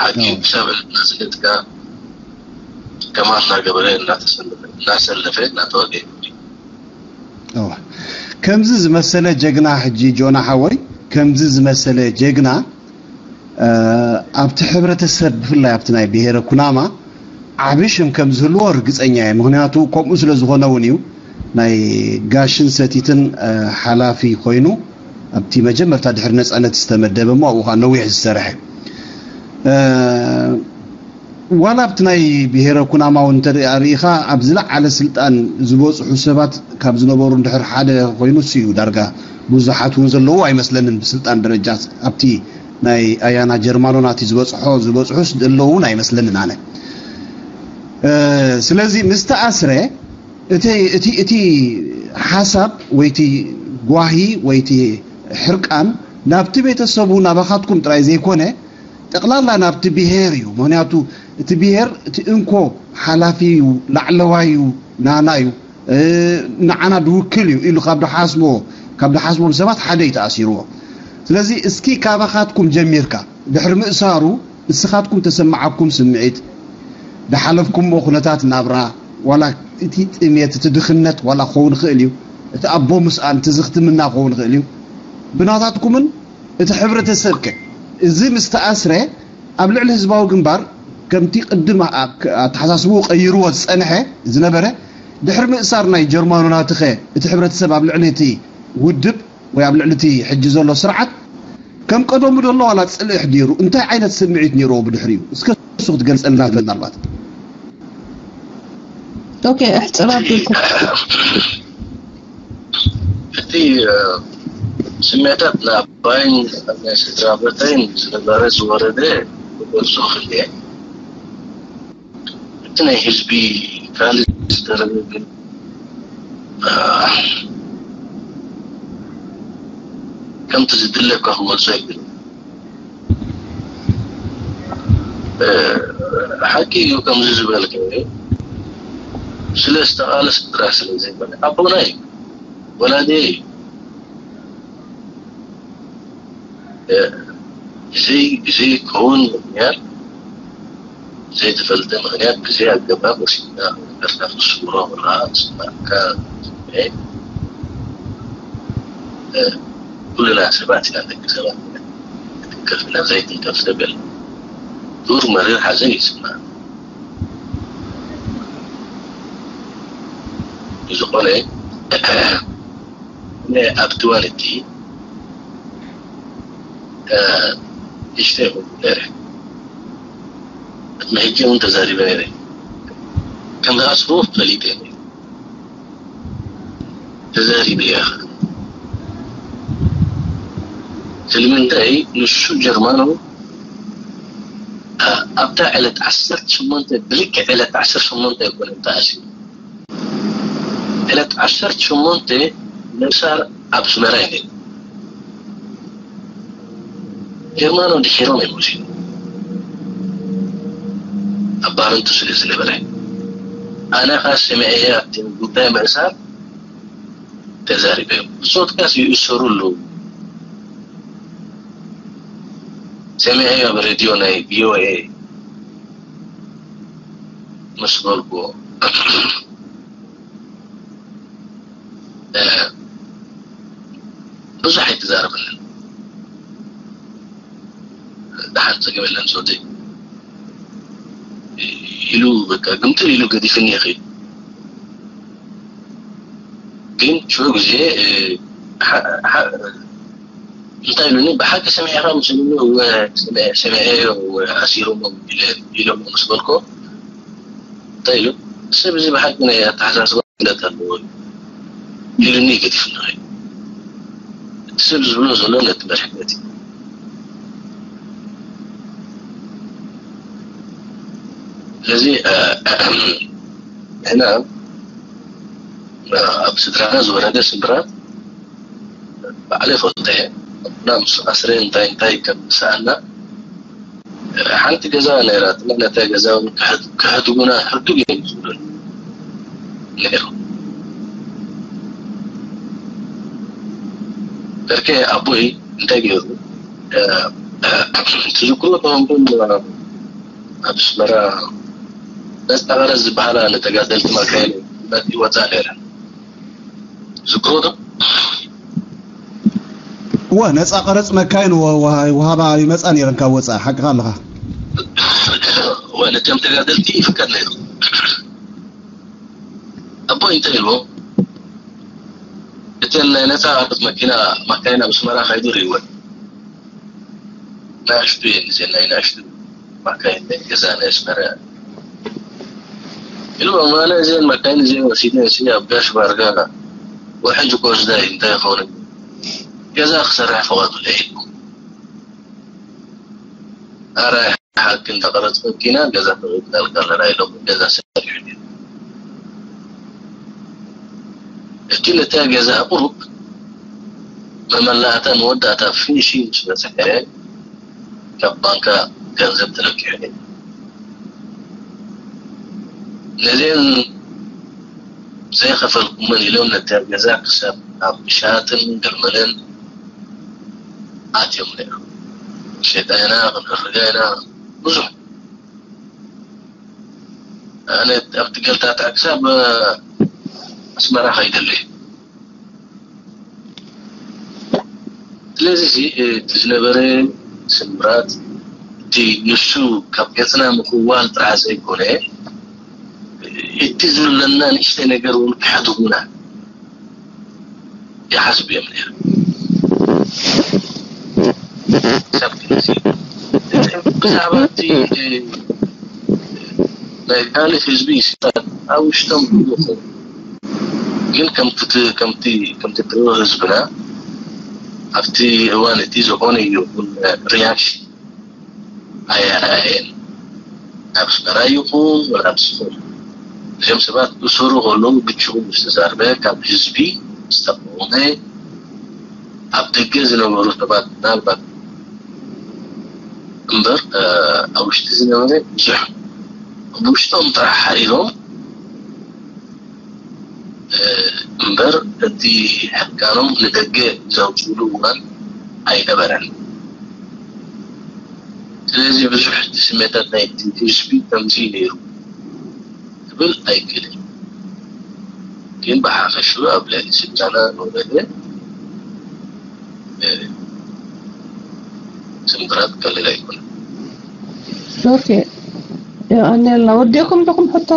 ሓቂ እዩ። ክሳብ ዕለት ናጽነት ከኣ ከማን እናገበረ እናተሰለፈ፣ እናሰለፈ፣ እናተዋገ እዩ። እዋ። ከምዚ ዝመሰለ ጀግና፣ ሕጂ ጆና ሓወይ፣ ከምዚ ዝመሰለ ጀግና፣ እ፣ ኣብቲ ሕብረተሰብ፣ ብፍላይ ኣብቲ ናይ ብሄረ ኩናማ ዓቢ ሽም ከም ዝህልዎ ርግጸኛ እየ። ምኽንያቱ ከምኡ ስለ ዝኾነ እውን እዩ ናይ ጋሽን ሰቲትን፣ እ፣ ሓላፊ ኮይኑ ኣብቲ መጀመርታ ድሕሪ ነጻነት ዝተመደበ፣ እሞ ኣብኡ ኸኣ ነዊሕ ዝሰርሐ። እ፣ ዋላ ኣብቲ ናይ ብሄረ ኩናማ እውን እንተ ርኢኻ፣ ኣብ ዝለዓለ ስልጣን ዝበጽሑ ሰባት ካብ ዝነበሩ እንድሕር ሓደ ኮይኑ እሱ እዩ። ዳርጋ ብዙሓት እውን ዘለዉ ኣይመስለንን ብስልጣን ደረጃ ኣብቲ ናይ ኣያና ጀርማኖ ናቲ ዝበጽሖ፣ ዝበጽሑስ ዘለዉ እውን ኣይመስለንን ኣነ። እ፣ ስለዚ ምስ ተኣስረ እቲ፣ እቲ፣ እቲ ሓሳብ ወይ እቲ ጓሂ ወይ እቲ ሕርቃን ናብቲ ቤተሰቡ ናባኻትኩም ጥራይ ዘይኮነ ጠቕላላ ናብቲ ብሄር እዩ። ምኽንያቱ እቲ ብሄር እቲ እንኮ ሓላፊ እዩ፣ ላዕለዋይ እዩ፣ ናና እዩ፣ እ፣ ንዓና ድውክል እዩ ኢሉ ካብ ድሓስቦ፣ ካብ ድሓስቦም ሰባት ሓደ እዩ ተኣሲርዎ። ስለዚ እስኪ ካባኻትኩም ጀሚርካ ድሕሪ ምእሳሩ እስኻትኩም ተሰማዓኩም ስምዒት፣ ድሓለፍኩምዎ ኩነታት ናብራ፣ ዋላ እቲ ጥሜት፣ እቲ ድኽነት ዋላ ክኸውን ይኽእል እዩ፣ እቲ ኣቦ ምስኣን፣ እቲ ዝኽትምና ክኸውን ይኽእል እዩ። ብናታትኩምን እቲ ሕብረተሰብ ከ እዚ ምስ ተኣስረ ኣብ ልዕሊ ህዝባዊ ግንባር ከምቲ ቅድም ኣ-፣ ክ-፣ ኣተሓሳስብኡ ቀይርዎ ዝጸንሐ ዝነበረ ድሕሪ ምእሳር ናይ ጀርማኖ ናትኸ እቲ ሕብረተሰብ ኣብ ልዕሊ እቲ ውድብ ወይ ኣብ ልዕሊ እቲ ሕጂ ዘሎ ስርዓት ከም ቀደሙ ደሎ ዋላ ጽልኢ ኣሕዲሩ እንታይ ዓይነት ስምዒት ነይርዎ ብድሕሪኡ? እስከ እሱ ክትገልጸልና ምናልባት። ኦኬ፣ እሕጽር ኣቢልኩም። እቲ፣ እ፣ ስምዒታት ናይ ኣባይን ናይ ስድራ ቤተይን ዝነበረ ዝወረደ ክገልጾ ክእል እየ። እቲ ናይ ህዝቢ ካልእ ዝተረፈ ግን፣ እ፣ ከምቲ ዝድለ እኳ ክገልጾ ኣይክእልን። እ፣ ሓቂ እዩ ከምዚ ዝበልከ፣ ስለ ዝተቓለሰ ጥራሕ ስለ ዘይኮነ፣ ኣቦና እዩ፣ ወላዲ እዩ። እ፣ ብዘይ፣ ብዘይከውን ምኽንያት፣ ዘይተፈልጠ ምኽንያት፣ ብዘይ ኣገባብ ወሲድና ነገርና ክንስውሮ ምርኣት፣ ዝስማዕካ ስምዒት፣ እ፣ ኩልና ሰባት ኢና፣ ደቂ ሰባት ኢና። ክትንከፍ ኢና፣ ዘይትንከፍ ሰብ የለን። ዱር መሪር ሓዘን ይስማዕ። ዝኾነ፣ ኣብ ትዋን እቲ ንእሽተይ ይኸውን ነይረ። ቅድሚ ሕጂ እውን ተዛሪበ ነይረ። ከም ዝኣስብዎ ፈሊጠ ነይረ። ተዛሪበ እየ። ስለምንታይ ንሱ ጀርማኑ ኣብታ ዕለት ዓሰርተ ሸሞንተ፣ ብልክዕ ዕለት ዓሰርተ ሸሞንተ ኣይኮነን ተኣሲሩ። ዕለት ዓሰርተ ሸሞንተ ምእሳር ኣብ ኣስመራ እዩ ነይሩ። ጀርማኖ ድሒሮም እዮም ወሲዶም። ኣብ ባረንቱ ስለ ዝነበረ ኣነ ኸኣ ሰሚዐያ ኣብቲ ጉዳይ ምእሳር ተዛሪበ እዮም። ብጾትካስ ይእሰሩ ኣለዉ። ሰሚዐዮ ኣብ ሬድዮ ናይ ቪኦኤ ምስ በልኩዎ ብዙሕ ኣይተዛረበንን። ደሓን ጸገም የለን ሶተይ ኢሉ በቃ ግምጥል ኢሉ ገዲፍኒ ይኽእል። ግን ሽዑ ግዜ እንታይ ኢሉኒ፣ ብሓቂ ሰሚዕኻ ምስ ኢሉኒ፣ እወ ሰሚዐዮ፣ እወ ኣሲሮሞ ኢሎሞ ምስ በልኮ እንታይ ኢሉ፣ ሰብ እዚ ብሓቂ ናይ ኣተሓሳስባ ክእለት ኣለዎ ኢሉኒ ገዲፍኒ። እቲ ሰብ ዝብሎ ዘሎ ነቲ መሪሕነት እዩ። ስለዚ ንሕና ኣብ ስድራና ዝወረደ ስምብራት ባዕለ ፈልጠ እና ምስ ኣስረ እንታይ እንታይ ከም ዝሰኣና ሓንቲ ገዛ ነይራትና። ነታ ገዛ እውን ክሕድጉና ሕዱግ እዮም ዝብሉን ነይሮም። በርከ ኣቦይ እንታይ ገይሩ ትዝክሩ ተኾንኩም ኣብ ኣስመራ ነፃ ቀረፅ ዝበሃላ ንተጋደልቲ ማካይን ይወፃ ነይረን። ዝክሮ ዶ? እወ፣ ነፃ ቀረፅ መካይን ወሃባ ይመፃ ነይረን ካብ ወፃኢ። ሓቅኻ ኣለኻ። እወ፣ ነቶም ተጋደልቲ ይፍቀድ ነይሩ። ኣቦ እንታይ ኢልዎ? እተን ናይ ነፃ ቀረፅ መኪና ማካይን ኣብ ኣስመራ ካይዱ ርእይወን። ናእሽቱ እየን እዚአን ናይ ናእሽቱ ማካይን ናይ ገዛ ናይ ኣስመራ ኢሉ ኣማና እዚአን ማካይን እዚአን ወሲደ እሲ ኣብ ጋሽ ባርጋ ወሕጅ ኮስዳይ እንታይ ይኸውን ገዛ ክሰርሕ ፈቐዱለይ ኢልኩም ኣራይ ሓቂ እንዳቐረጽ መኪና ገዛ ተቐብላልካ ኣለና ኢሎም ገዛ ሰሪሑ እቲ ነታ ገዛ ቁሩብ መመላእታ መወዳእታ ፊኒሺንግ ምስ በጽሐ ካብ ባንካ ገንዘብ ተለቂሑ ነይሩ። ነዚአን ዘይኸፈልኩመን ኢሎም ነታ ገዛ ክሳብ ኣብ ምሻጥን ገርመለን ኣትዮም ነይሮም። ሸጣ ኢና ክንሕርጋ ኢና ብዙሕ ኣነ ኣብቲ ገልታታ ክሳብ ኣስመራ ከይደሊ ስለዚ እቲ ዝነበረ ስምራት እቲ ንሱ ካብ ገፅና ምክዋል ጥራሕ ዘይኮነ እቲ ዝብለና ንእሽተ ነገር እውን ክሕድጉና ይሓስቡ እዮም ነይሮም። ብዛዕባ እቲ ናይ ካልእ ህዝቢ ይስታት ኣብ ውሽጦም ይኹን ግን ከምቲ ከምቲ ከምቲ ድሮ ህዝብና ኣብቲ እዋን እቲ ዝኾነ ይኹን ሪያክሽን ኣየርኣየን ኣብ ኣስመራ ይኹን ወላ ኣብ ዝኾነ እዚኦም ሰባት ብስሩ ከለዉ ብጭቡ ምስ ተዛርበ ካብ ህዝቢ ዝተቃወመ ኣብ ደገ ዝነበሩ ሰባት ምናልባት እምበር ኣብ ውሽጢ ዝነበረ ብዙሕ ብውሽጦም ጥራሕ ሓሪሮም እምበር እቲ ሕርቃኖም ንደገ ዘውፅሉ እዋን ኣይነበረን። ስለዚ ብዙሕ እቲ ስሜታት ናይቲ ህዝቢ ከምዚ ነይሩ ክብል ኣይክእልን። ግን ብሓፈሽኡ ኣብ ልዕሊ ስልጣና ዝወረደ ስምብራት ቀሊል ኣይኮነን። ኦኬ። ኣኔልና ወዲእኩም ዲኹም ሕቶ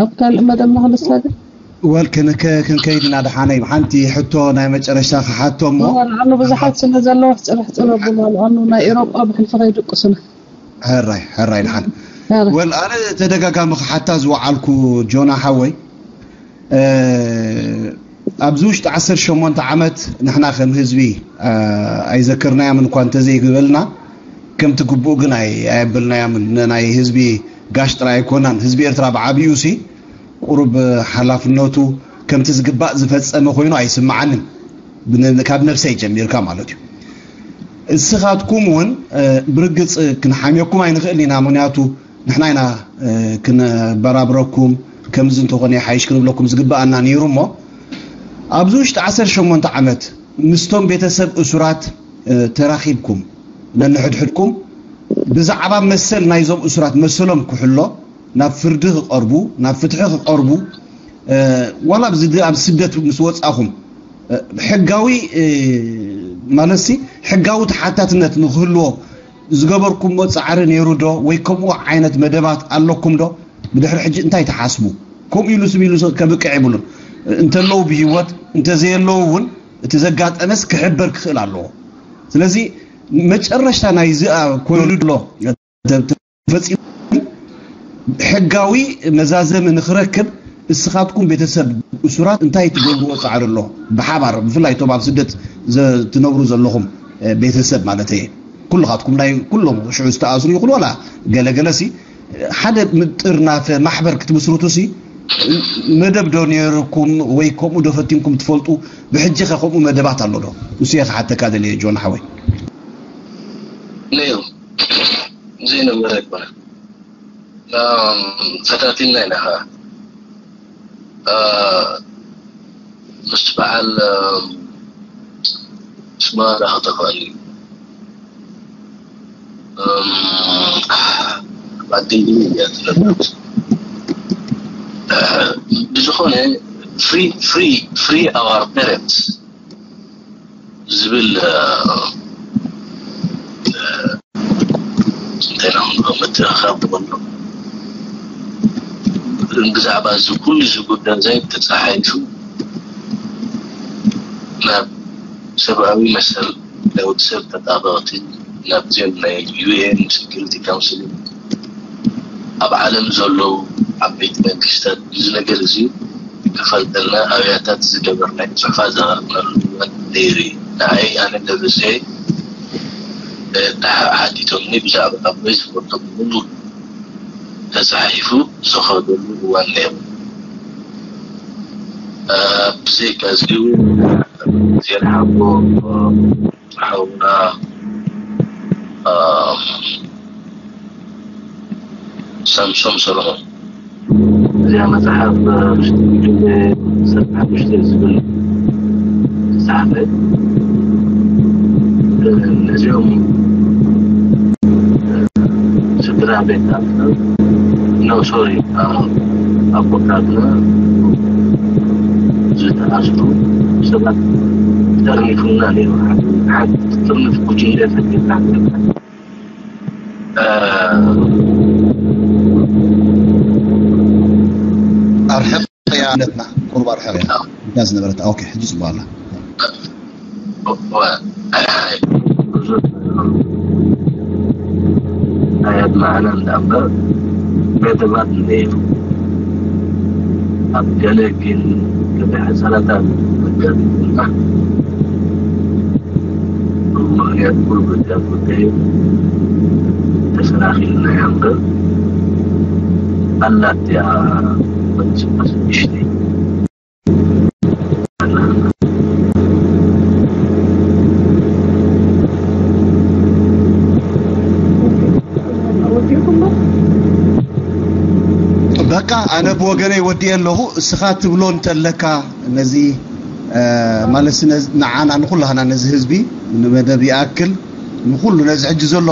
ኣብ ካልእ መደብ ንኽልሳግር ወል ክንከ ክንከይድ ኢና ደሓነይ። ሓንቲ ሕቶ ናይ መጨረሻ ክሓቶ እሞ፣ ንኣኑ ብዙሓት ስለ ዘለዉ ሕፅር ሕፅር ኣብሉ። ንኣኑ ናይ ኤሮጳ ብሕልፊ ከይድቅሱና። ሕራይ ሕራይ ደሓን። ወል ኣነ ተደጋጋሚ ክሓታ ዝወዓልኩ ጆና ሓወይ፣ ኣብዚ ውሽጢ ዓሰርተ ሸሞንተ ዓመት ንሕና ከም ህዝቢ ኣይዘከርናያምን እኳ እንተዘይበልና፣ ከምቲ ግቡእ ግን ኣየበልናያምን። ናይ ህዝቢ ጋሽ ጥራይ ኣይኮናን። ህዝቢ ኤርትራ ብዓብዩ ሲ ቁሩብ ሓላፍነቱ ከምቲ ዝግባእ ዝፈጸመ ኮይኑ ኣይስምዓንን፣ ካብ ነብሰይ ጀሚርካ ማለት እዩ። እስኻትኩም እውን ብርግጽ ክንሓምየኩም ኣይንኽእል ኢና። ምክንያቱ ንሕና ኢና ክነበራብረኩም፣ ከምዚ እንተኾነ ይሓይሽ ክንብለኩም ዝግብኣና ነይሩ። እሞ ኣብዚ ውሽጢ ዓሰርተ ሸሞንተ ዓመት ምስቶም ቤተሰብ እሱራት ተራኺብኩም፣ ነንሕድሕድኩም ብዛዕባ መሰል ናይዞም እሱራት፣ መሰሎም ክሕሎ፣ ናብ ፍርዲ ክቐርቡ፣ ናብ ፍትሒ ክቐርቡ፣ ዋላ ኣብዚ ኣብ ስደት ምስ ወጻኹም ሕጋዊ፣ ማለትሲ ሕጋዊ ተሓታትነት ንክህልዎ ዝገበርኩምዎ ጻዕሪ ነይሩ ዶ? ወይ ከምኡ ዓይነት መደባት ኣለኩም ዶ? ብድሕሪ ሕጂ እንታይ ትሓስቡ? ከምኡ ኢሉ ስም ኢሉ ከብቅዕ የብሉን። እንተለዉ ብህይወት፣ እንተዘየለዉ እውን እቲ ዘጋጠመስ ክሕበር ክኽእል ኣለዎ። ስለዚ መጨረሽታ ናይዚ ኮይኑ ኣሎ ተፈጺሙ ሕጋዊ መዛዘሚ ንክረክብ እስኻትኩም ቤተሰብ እሱራት እንታይ ትገብርዎ ጻዕሪ ኣሎ? ብሓባር ብፍላይ እቶም ኣብ ስደት ትነብሩ ዘለኹም ቤተሰብ ማለት እየ። ኩልኻትኩም ናይ ኩሎም ሽዑ ዝተኣስሩ ይኹን ዋላ ገለገለ ሲ ሓደ ምጥርናፈ ማሕበር ክትምስርቱ ሲ መደብ ዶ ነይርኩም ወይ ከምኡ ዶ ፈቲንኩም ትፈልጡ? ብሕጂ ከ ከምኡ መደባት ኣሎ ዶ? እሱ እየ ክሓተካ ደልየ ጆን ሓወይ። ነይሩ ዘይነበረ ኣይኮነ ፈታቲና ኢና ኸዓ ምስ በዓል ስማ ዳ ክተኽእል እዩ ባደይ እያ ትነብር ብዝኾነ free free free our parents ዝብል እንታይ ኢና ክንብሎ ምትእኽኻብ ንበሎ ብዛዕባ እዚ ኩሉ እዚ ጉዳይ እዚ ተፀሓሒፉ ናብ ሰብኣዊ መሰል ናይ ወዲ ሰብ ተጣበቕቲ ናብዚኦም ናይ UN Security Council ኣብ ዓለም ዘለዉ ዓበይቲ መንግስታት እዚ ነገር እዚ ክፈልጠልና ኣብያታት ዝገበርናዮ ፅሑፋት ዘቕረብናሉ እዋን ነይሩ እዩ። ንዓይ ኣነ ነብሰ ሓቲቶምኒ ብዛዕባ ኣቦይ ዝፈልጦ ብምሉእ ተፃሒፉ ዝኸደሉ እዋን ነይሩ። ብዘይካ እዚ እውን ዜና ሓቦ ሓውና ሳምሶም ሰሎሞን እዚኣ መፅሓፍ ሽዱሽተ ሰብዓ ሓሙሽተ ዝብል ተፃሓፈ ነዚኦም ስድራ ቤታትና ኖ ሶሪ ኣቦታትና ዝተኣስሩ ሰባት ጠርኒፉና ነይሩ። ሓንቲ ጥርንፍ ጉጅለ ፈጢርና ኣርሕቕ እያ ነትና ቁሩብ ኣርሕቕ እያ እዛ ዝነበረት። ኦኬ ሕጂ ጽቡቕ ኣላ። ኣያት መዓና እንዳእምበር ገደባት እንደ ኣብ ገለ ግን ገለ ሕሰረታት መጋቢትና ብምኽንያት ኩሉ ጉዳይ ጉዳይ ተሰናኺልና ያምበር ኣላት ያ መንስባስ ምሽቲ በቃ ኣነ ብወገነይ ወዲኤ ኣለኹ። እስኻ ትብሎ እንተለካ ነዚ ማለት ንዓና ንኩላህና ነዚ ህዝቢ ንመደብ ይኣክል ንኩሉ ነዚ ሕጂ ዘሎ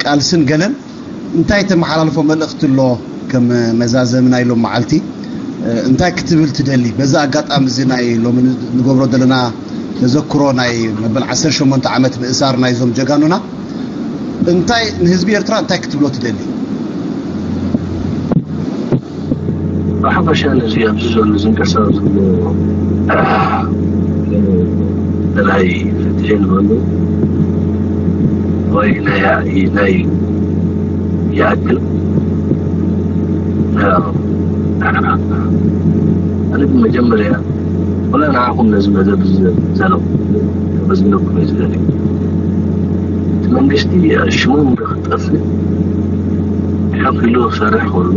ቃልስን ገለን እንታይ ተመሓላልፎ መልእኽቲ ኣሎ? ከም መዛዘሚ ናይ ሎም መዓልቲ እንታይ ክትብል ትደሊ? በዚ ኣጋጣሚ እዚ ናይ ሎሚ ንገብሮ ዘለና ተዘክሮ ናይ መበል ዓሰርተ ሸሞንተ ዓመት ምእሳር ናይዞም ጀጋኑና እንታይ ንህዝቢ ኤርትራ እንታይ ክትብሎ ትደሊ? ብሓፈሻ ነዚ ኣብዚ ዘሎ ዝንቀሳቐስ ዘሎ ናይ ፍትሒ ንበሉ ወይ ናይ ናይ ይኣክል። ኣነ ብመጀመርያ ወላ ንዓኹም ነዚ መደብ ዘለኹ ከመስግነኩም እየ ዝደሊ። እቲ መንግስቲ ሽሙ ክጠፍእ ሓፍ ኢሉ ክሰርሕ ከሎ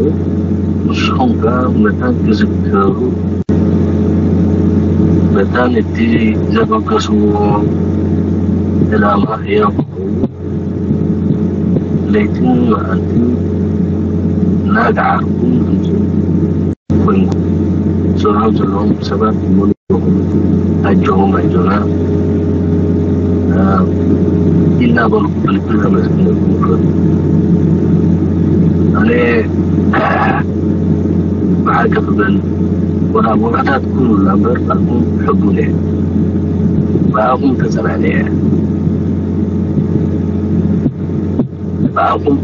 ንስኹም ከኣ መታን ክዝከሩ መታን እቲ ዘበገስዎ ዕላማ ህያው ክኸውን ለይትን መዓልትን እናገዓርኩም ድምፁ ኮይንኩም ዝሰርሖም ዘለዎም ሰባት ሙሉእ ኣጆኹም ኣጆና ኢልና በልኩ ብልቢ ከመስግነኩም ይፈቱ። ኣነ ብሓቂ ክብል ወላ ቦታታት ኩሉ እምበር ብኣኹም ሕቡን እየ። ብኣኹም ተጸናንየ እየ። ብኣኹም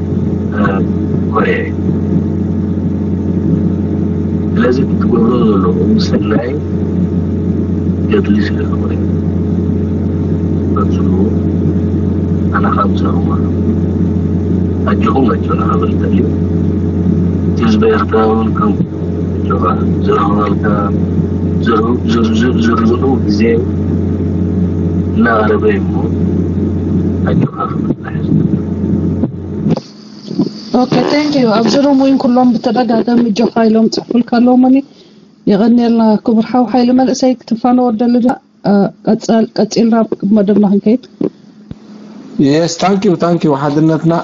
ኮርየ እየ። ስለዚ ክትገብሮ ዘለኹም ሰናይ ገድሊ ስለ ዝኾነ ቀጽሉ። ኣነ ካብ ዝረኽቦ ኣጆኹም ኣጆና ክብል እደሊ። እቲ ህዝቢ ኤርትራ እውን ከም ኣጆኻ ዝረኽበልካ ዝርዝኡ ግዜ እናቐረበ እዩ እሞ ኣጆኻ ክብል ጥራሕ እዩ። Okay, thank you. ኣብዚ ሩም እውን ኩሎም ብተደጋጋሚ ጆኻ ኢሎም ጽሑፍልካ ኣለዉ። መኒ የቐንየልና ክቡር ሓው ሓይሊ መንእሰይ ክትፋነወ ደሊ ዶ? ቀጺልና መደብና ክንከይድ። Yes, thank you, thank you ሓድነትና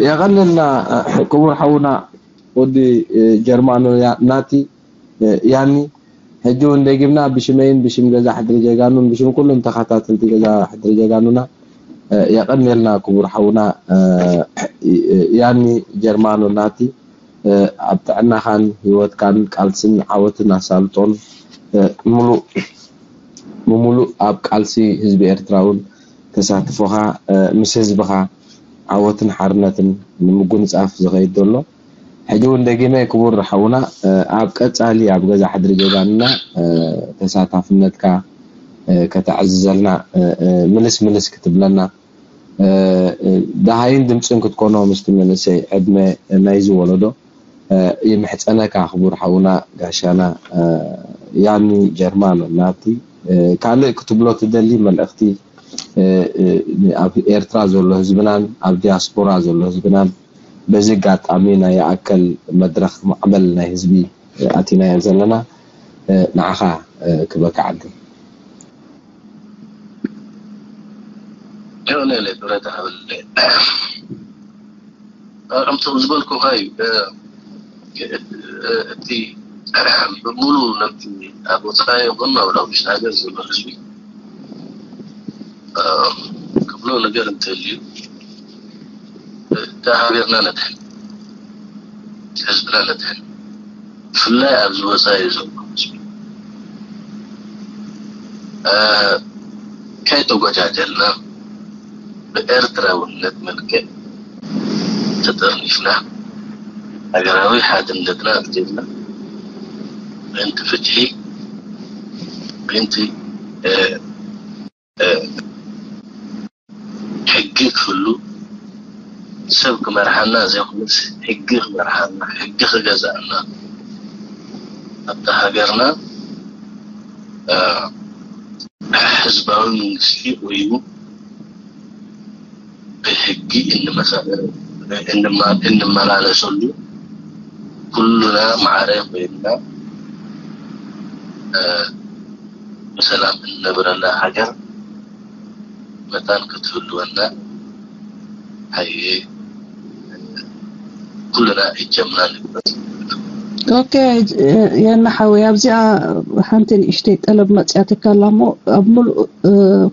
የቐንየልና ክቡር ሓውና ወዲ ጀርማኖ ናቲ ያኒ ሕጂ እውን ደጊምና ብሽመይን ብሽም ገዛ ሕድሪ ጀጋኑን ብሽም ኩሉም ተኸታተልቲ ገዛ ሕድሪ ጀጋኑና የቐንየልና ክቡር ሓውና ያኒ ጀርማኖ ናቲ ኣብ ጥዕናኻን ህይወትካን ቃልስን ዓወትን ኣሳልጦን ምሉእ ብምሉእ ኣብ ቃልሲ ህዝቢ ኤርትራ እውን ተሳትፎኻ ምስ ህዝብኻ ዓወትን ሓርነትን ንምጉንጻፍ ዝኸይድ ዘሎ ሕጂ እውን ደጊመ ክቡር ሓውና ኣብ ቀጻሊ ኣብ ገዛ ሕድሪ ጀጋኑና ተሳታፍነትካ ከተዕዝዘልና ምልስ ምልስ ክትብለና ደሃይን ድምጽን ክትኮኖ ምስቲ መንእሰይ ዕድመ ናይዚ ወለዶ ይምሕጸነካ ክቡር ሓውና ጋሻና ያኒ ጀርማኖ ናቲ ካልእ ክትብሎ ትደሊ መልእኽቲ ኣብ ኤርትራ ዘሎ ህዝብናን ኣብ ዲያስፖራ ዘሎ ህዝብናን በዚ ኣጋጣሚ ናይ ይኣከል መድረኽ ማዕበል ናይ ህዝቢ ኣቲናዮ ዘለና ንዓኻ ክበካ ዓዲ የቕንየለይ ብረታ ሃበለይ ከምቶም ዝበልኩኻ እዩ እቲ ብሙሉ ነቲ ኣብ ወፃኢ ይኹን ኣብ ውሽጢ ሃገር ዘሎ ህዝቢ ክብሎ ነገር እንተልዩ እታ ሃገርና ነድሕን ህዝብና ነድሕን ብፍላይ ኣብዚ ወፃኢ ዘሎ ህዝቢ ከይተጎጃጀልና ብኤርትራውነት መልክዕ ተጠርኒፍና ሃገራዊ ሓድነትና ኣጽኒዕና ምእንቲ ፍትሒ ምእንቲ ሕጊ ክህሉ ሰብ ክመርሓና ዘይኮነስ ሕጊ ክመርሓና ሕጊ ክገዝኣና ኣብታ ሃገርና ህዝባዊ መንግስቲ ቆይሙ ብሕጊ እንመላለሰሉ ኩሉና ማዕረ ኮይንና ብሰላም እንነብረላ ሃገር መታን ክትህልወና ኣየ ኩልና እጀምና ንግበር። Okay የና ሓወይ ኣብዚኣ ሓንቲ ንእሽተይ ጠለብ መፅያትካ ኣላ እሞ ኣብ ሙሉእ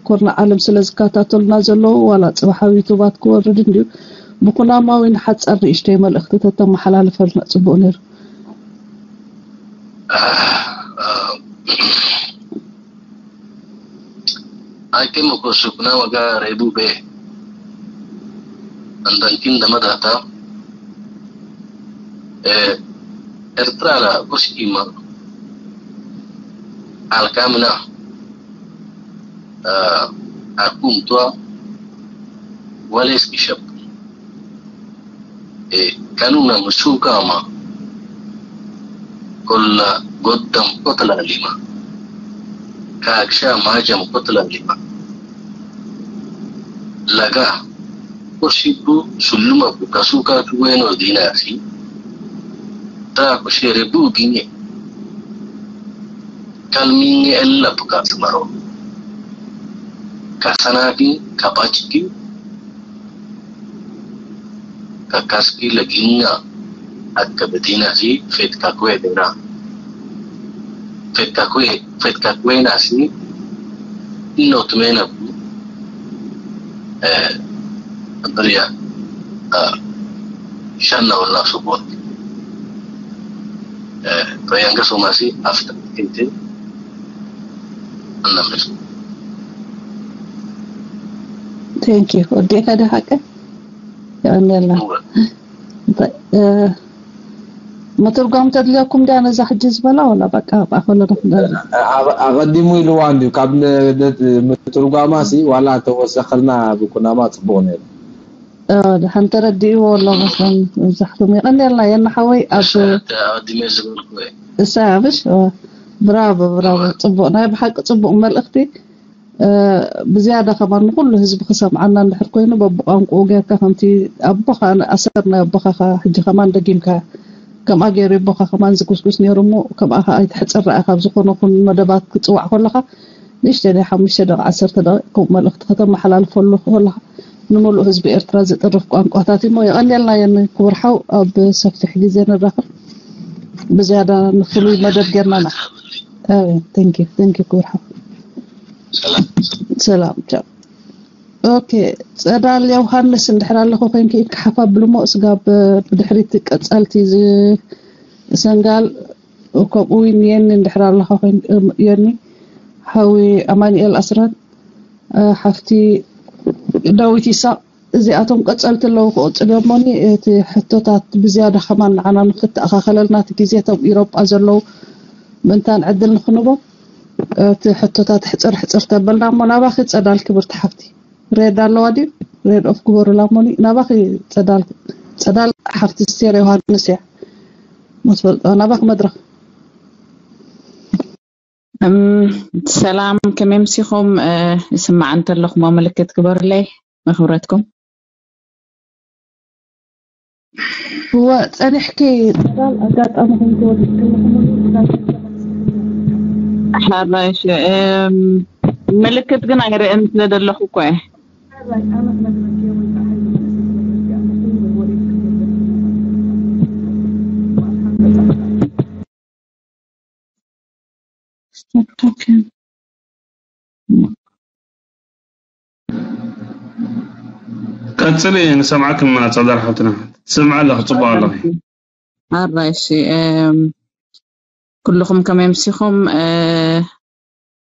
ኮርና ዓለም ስለ ዝከታተሉና ዘለዉ ዋላ ፅባሕ ኣብ ዩቱባት ክወርድ እንድዩ ብኩናማዊ ንሓፃር ንእሽተይ መልእኽቲ ተተመሓላልፈልና ፅቡቅ ነይሩ። Anche mo questo kuna waga rebu be andankin dama data eh ኤርትራ ላ ጎስኪማ ኣልካምና ኣኩምቷ ወሌስ ቢሸፕ ካኑና ምሱካማ ኮላ ጎደም ኮተላ ሊማ ካክሻ ማጀም ኮተላ ሊማ ለጋ ኮሲቡ ሱሉመ ቡካ ሱካ ቱዌኖ ዲናሲ ታ ኩሼሬ ቡ ጊኔ ካልሚኒ ኤላ ቡካ ስመሮ ካሳናጊ ካባችኪ ካካስኪ ለጊኛ አከ በዲናሲ ፌት ካኩዌ ዲና ፌት ካኩዌ ፌት ካኩዌ ናሲ ኢኖት ሜነቡ ብርያ ሻና ወላ ሱቦት ረያንገ ሶማሲ ኣፍተ ኪንቲ እናመስ Thank you. ወዲእካ ዶ ሓቀ? የቐንየልና። እንታይ፣ እ፣ ምትርጓም ተድልየኩም ድያ ነዛ ሕጂ ዝበላ ወላ በቃ ብኣኸሎ ንኽንደርግ? ኣቐዲሙ ኢልዋ እንድዩ ካብ ነ- ነ- ምትርጓማ ሲ ዋላ እንተወሰኸልና ብኩናማ ጽቡቕ ነይሩ። እ፣ ድሓን ተረዲእዎ ኣሎ መስለን መብዛሕትኦም። የቐንየልና የና ሓወይ ኣብ ኣቐዲመ ዝበልኩ እየ እሳ ብሽ ብራቮ ብራቮ ጽቡቕ ናይ ብሓቂ ጽቡቕ መልእኽቲ። ብዝያዳ ከማን ንኩሉ ህዝቢ ክሰምዓና እንድሕር ኮይኑ በብቋንቁኡ ጌርካ ከምቲ ኣቦኻ ኣሰር ናይ ኣቦኻ ሕጂ ከማን ደጊምካ ከምኣ ገይሩ ኣቦኻ ከማን ዝጉስጉስ ነይሩ እሞ ከምኣ ከዓ ኣይትሕፅር ረኣ ካብ ዝኾነ ኩን መደባት ክፅዋዕ ከለካ ንእሽተይ ናይ ሓሙሽተ ደቂ ዓሰርተ ደቂ ከምኡ መልእክቲ ከተመሓላልፈሉ ከለካ ንምሉእ ህዝቢ ኤርትራ ዝጥርፍ ቋንቋታት እሞ የቐንየልና የን ክቡር ሓው ኣብ ሰፊሕ ግዜ ንራኸብ ብዝያዳ ንፍሉይ መደብ ጌርና ና thank you thank you ክቡር ሓው ሰላም ቻው ኦኬ ጸዳል ዮሃንስ እንድሕር ኣለኹ ኮንኪ ኢድካ ሓፍ ኣብልሞ ስጋብ ብድሕሪት ቀጸልቲ ሰንጋል ከምኡ እውን የኒ እንድሕር ኣለኻ የኒ ሓዊ ኣማኒኤል ኣስራት ሓፍቲ ዳዊት ይሳቅ እዚኣቶም ቀጸልቲ ኣለዉ ክቕጽል እዮሞኒ እቲ ሕቶታት ብዝያዳ ከማን ንዓና ንክተኣኻኸለልና እቲ ግዜ እቶም ኢሮጳ ዘለዉ ምእንታን ዕድል ንክንቦም እቲ ሕቶታት ሕጽር ሕጽር ተበልና እሞ ናባኺ ጸዳል ክብርቲ ሓፍቲ ሬድ ኣለዋ ድዩ ሬድ ኦፍ ግበሩላ እሞኒ ናባኺ ጸዳል ጸዳል ሓፍቲ ስቴር ዮሃንስ እያ መትፈልጦ ናባኺ መድረኽ ሰላም ከመይ ምሲኹም ይስማዕ እንተለኹሞ ምልክት ግበሩለይ መኽብረትኩም እወ ጸኒሕኪ ጸዳል ኣጋጣሚ ከም ትወድቅ ከለኹ ሓራሽ ምልክት ግን ኣይርእን ስለ ዘለኹ እኮ እየ ቀጽሊ ንሰምዓክም ጸዳል ሓብትና ትሰምዓ ኣለኺ ጽቡቅ ኣለኺ ኣራይሺ ኩልኹም ከመይ ምሲኹም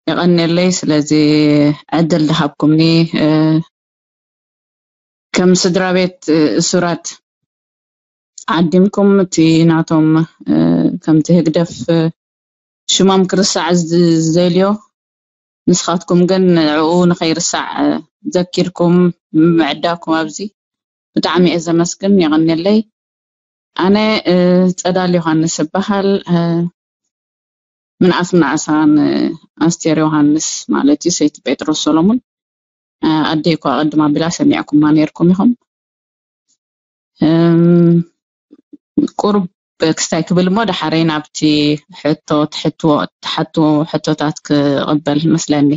የቐንየለይ ስለዚ ዕድል ድሃብኩምኒ ከም ስድራ ቤት እሱራት ዓዲምኩም እቲ ናቶም ከምቲ ህግደፍ ሽሞም ክርስዕ ዝደልዮ ንስኻትኩም ግን ንዕኡ ንኸይርሳዕ ዘኪርኩም ምዕዳኩም ኣብዚ ብጣዕሚ እየ ዘመስግን የቐንየለይ ኣነ ጸዳል ዮሃንስ እበሃል ምንኣስ ምንኣሳ ኣስቴር ዮሃንስ ማለት እዩ ሰይቲ ጴጥሮስ ሰሎሙን ኣደይ እኳ ቅድም ኣቢላ ሰሚዕኩማ ነይርኩም ኢኹም ቁሩብ ክስታይ ክብል እሞ ዳሓረይ ናብቲ ሕቶ ትሓትዎ ሕቶታት ክቕበል መስለኒ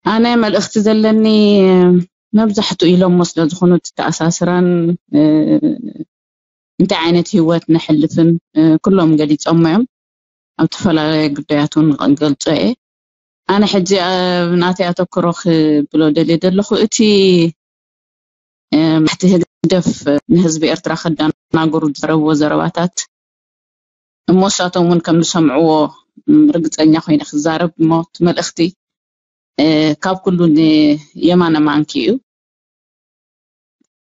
ኣነ መልእኽቲ ዘለኒ መብዛሕትኡ ኢሎሞ ስለ ዝኾኑ እቲ ተኣሳስራን እንታይ ዓይነት ህይወት ነሕልፍን ኩሎም ገሊፆሞ እዮም ኣብ ዝተፈላለየ ጉዳያት እውን ገልፆ እየ ኣነ ሕጂ ናተይ ኣተክሮ ክብሎ ደልየ ዘለኹ እቲ ማሕቲ ህግደፍ ንህዝቢ ኤርትራ ከዳናገሩ ዝረብዎ ዘረባታት እሞ እሳቶም እውን ከም ዝሰምዕዎ ርግፀኛ ኮይነ ክዛረብ እሞ እቲ መልእኽቲ ካብ ኩሉ ንየማነ ማንኪ እዩ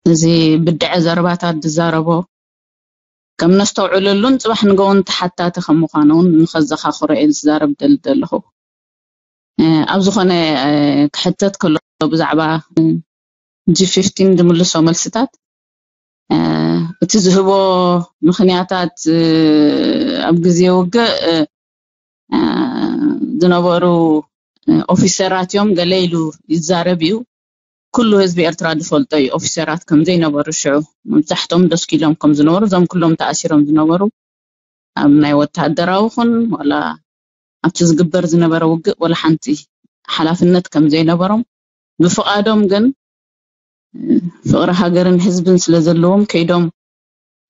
እዚ ብድዐ ዘረባታት ዝዛረቦ ከም ነስተውዕለሉን ጽባሕ ንገውን ተሓታቲ ከም ምዃኑ እውን ንኸዘኻኽሮ እየ ዝዛረብ ደል ዘለኹ። ኣብ ዝኾነ ክሕተት ከሎ ብዛዕባ ጂ ፊፍቲን ዝምልሶ መልስታት፣ እቲ ዝህቦ ምኽንያታት፣ ኣብ ግዜ ውግእ ዝነበሩ ኦፊሰራት እዮም ገለ ኢሉ ይዛረብ እዩ። ኩሉ ህዝቢ ኤርትራ ዝፈልጦ እዩ ኦፊሰራት ከም ዘይነበሩ ሽዑ። መብዛሕቶም ደስኪሎም ከም ዝነበሩ፣ እዞም ኩሎም ተኣሲሮም ዝነበሩ ኣብ ናይ ወተሃደራዊ ኹን ዋላ ኣብቲ ዝግበር ዝነበረ ውግእ ዋላ ሓንቲ ሓላፍነት ከም ዘይነበሮም፣ ብፍቓዶም ግን ፍቕሪ ሃገርን ህዝብን ስለ ዘለዎም ከይዶም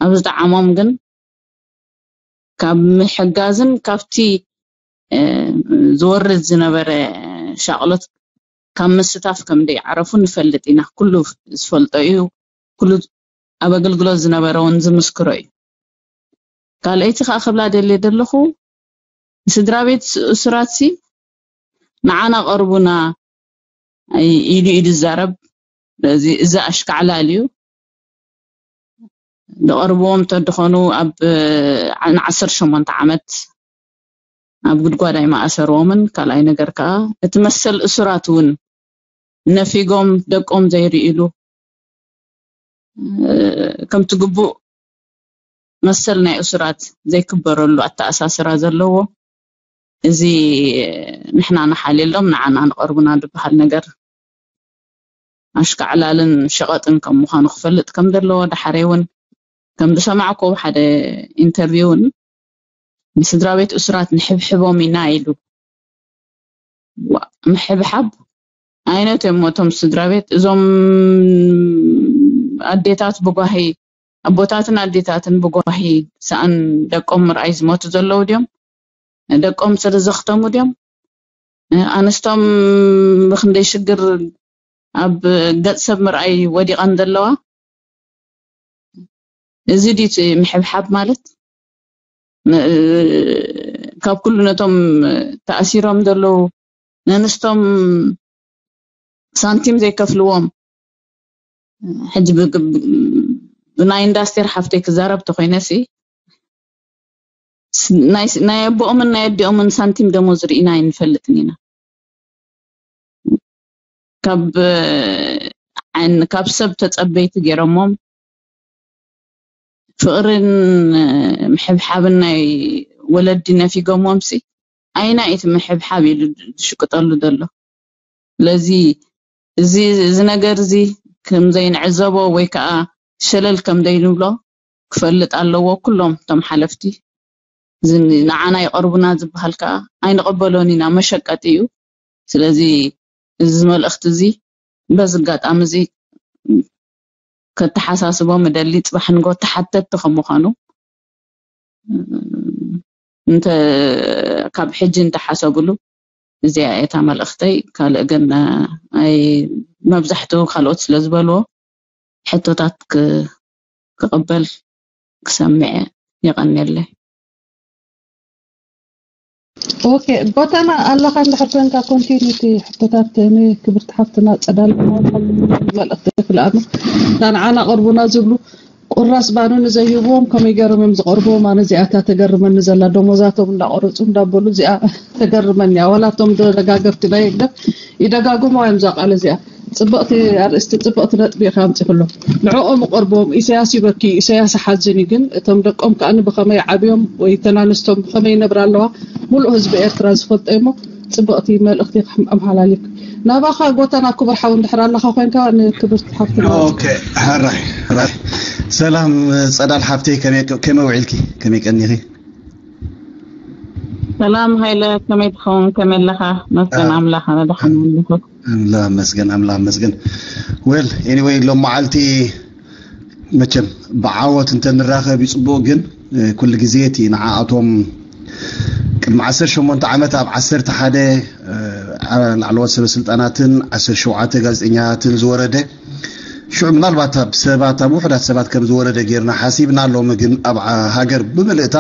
ኣብ ዝጠዓሞም ግን ካብ ምሕጋዝን ካብቲ ዝወርድ ዝነበረ ሻቕሎት ካብ ምስታፍ ከም ዘይዓረፉ ንፈልጥ ኢና። ኩሉ ዝፈልጦ እዩ። ኩሉ ኣብ ኣገልግሎት ዝነበረ እውን ዝምስክሮ እዩ። ካልኣይቲ ከዓ ክብላ ደልየ ዘለኹ፣ ስድራ ቤት እሱራትሲ ንዓና ቀርቡና ኢሉ ኢሉ ዝዛረብ፣ እዚ እዚ ኣሽካዕላል እዩ። ዝቐርብዎም እንተድኾኑ ኣብ ንዓሰርተ ሸሞንተ ዓመት ኣብ ጉድጓድ ኣይመኣሰርዎምን። ካልኣይ ነገር ከዓ እቲ መሰል እሱራት እውን ነፊጎም ደቆም ዘይርእሉ፣ ከምቲ ግቡእ መሰል ናይ እሱራት ዘይክበረሉ ኣተኣሳስራ ዘለዎ፣ እዚ ንሕና ንሓልየሎም ንዓና ንቐርቡና ዝበሃል ነገር ኣሽካዕላልን ሸቐጥን ከም ምዃኑ ክፈልጥ ከም ዘለዎ፣ ዳሕረይ እውን ከም ዝሰማዕኩ ሓደ ኢንተርቪው እውን ንስድራ ቤት እሱራት ንሕብሕቦም ኢና ኢሉ። ዋ፣ ምሕብሓብ ዓይነት እዮም እቶም ስድራ ቤት። እዞም ኣዴታት ብጓሂ፣ ኣቦታትን ኣዴታትን ብጓሂ ሰኣን ደቆም ምርኣይ ዝሞቱ ዘለዉ ድዮም? ደቆም ስለ ዘኽተሙ ድዮም? ኣንስቶም ብክንደይ ሽግር ኣብ ገጽ ሰብ ምርኣይ ወዲቐን ዘለዋ? እዚ ድዩ እቲ ምሕብሓብ ማለት? ም-፣ ካብ ኩሉ ነቶም ተኣሲሮም ዘለዉ ነንስቶም ሳንቲም ዘይከፍልዎም፣ ሕጂ ብ-፣ ብ-፣ ብናይ ኢንዳስቴር ሓፍተይ ክዛረብ ተኾይነ ሲ፣ ስ-፣ ናይ ስ-፣ ናይ ኣቦኦምን ናይ ኣዲኦምን ሳንቲም ደሞዝ ርኢና ኣይንፈልጥን ኢና። ካብ ዓይን-፣ ካብ ሰብ ተጸበይቲ ገይሮሞም፣ ፍቕርን ምሕብሓብን ናይ ወለዲ ነፊጎሞም ሲ፣ ኣይና እቲ ምሕብሓብ ኢሉ ዝሽቅጠሉ ዘሎ። ስለዚ እዚ፣ እዚ ነገር እዚ ከም ዘይንዕዘቦ ወይ ከዓ ሸለል ከም ዘይንብሎ ክፈልጥ ኣለዎ። ኩሎም እቶም ሓለፍቲ እዚ ንዓና ይቐርቡና ዝበሃል ከዓ ኣይንቐበሎን ኢና፣ መሸቀጢ እዩ። ስለዚ እዚ መልእኽቲ እዚ በዚ ኣጋጣሚ እዚ ከተሓሳስቦም እደሊ። ጽባሕ ንጎ ተሓተትቲ ከም ምዃኑ እንተ፣ ካብ ሕጂ እንተሓሰብሉ፣ እዚኣ እያ እታ መልእኽተይ። ካልእ ግን፣ ኣይ፣ መብዛሕትኡ ካልኦት ስለ ዝበልዎ፣ ሕቶታት ክ-፣ ክቕበል ክሰምዕ እየ። የቐንየለይ። ኦኬ፣ ጎተና ኣለኻ እንድሕር ኮንካ፣ ኮንቲኒቲ ሕቶታት ንክብርቲ ሓፍትና ጸዳል መልእኽቲ ክልኣኑ፣ እታ ንዓና ቅርቡና ዝብሉ ቁራስ ባኑ ንዘይህብዎም ከመይ ገይሮም እዮም ዝቐርብዎም? ኣነ እዚኣ እታ ተገርመኒ ዘላ፣ ደሞዛቶም እንዳቆረጹ እንዳበሉ፣ እዚኣ ተገርመኒ እያ። ዋላ እቶም ደጋገርቲ ናይ ህግደፍ ይደጋግሞ እዮም እዛ ቃል እዚኣ። ጽብቕቲ ኣርእስቲ፣ ጽብቕቲ ነጥቢ ኢኻ ኣምጺኽሎም። ንዕኦም እቐርብዎም፣ ኢሳያስ ይበኪ፣ ኢሳያስ ሓዝን እዩ፣ ግን እቶም ደቆም ከኣ ብኸመይ ዓብዮም ወይ ተናንስቶም ብኸመይ ይነብራ ኣለዋ፣ ሙሉእ ህዝቢ ኤርትራ ዝፈልጦ እሞ፣ ጽብቕቲ መልእኽቲ ኣመሓላሊፍ። ናባኻ ጎተና ክቡር ሓው እንድሕር ኣለኻ ኮይንካ፣ ንክብርቲ ሓፍትና። ኦኬ፣ ሕራይ፣ ሕራይ። ሰላም ጸዳል ሓፍተይ፣ ከመይ፣ ከመይ ውዒልኪ? ከመይ ቀኒኺ? ሰላም ሃይለ፣ ከመይ ትኸውን? ከመይ ኣለኻ? መስገን አ-፣ ኣምላኽ፣ ኣነ ደሓን ኣለኹ። ኣምላኽ መስገን፣ ኣምላኽ መስገን። ዌል፣ ኤኒዌይ፣ ሎም መዓልቲ መቸም ብዓወት እንተንራኸብ እዩ ጽቡቕ፣ ግን፣ እ፣ ኩሉ ግዜ እቲ ንዓኣቶም ቅድሚ ዓሰርተ ሸሞንተ ዓመት ኣብ ዓሰርተ ሓደ፣ እ፣ ዓ-፣ ላዕለዎት ሰበ ስልጣናትን ዓሰርተ ሸውዓተ ጋዜጠኛታትን ዝወረደ፣ ሽዑ ምናልባት ኣብ ሰባት፣ ኣብ ውሑዳት ሰባት ከም ዝወረደ ጌርና ሓሲብና፣ ሎሚ ግን ኣብ ዓ-፣ ሃገር ብምልእታ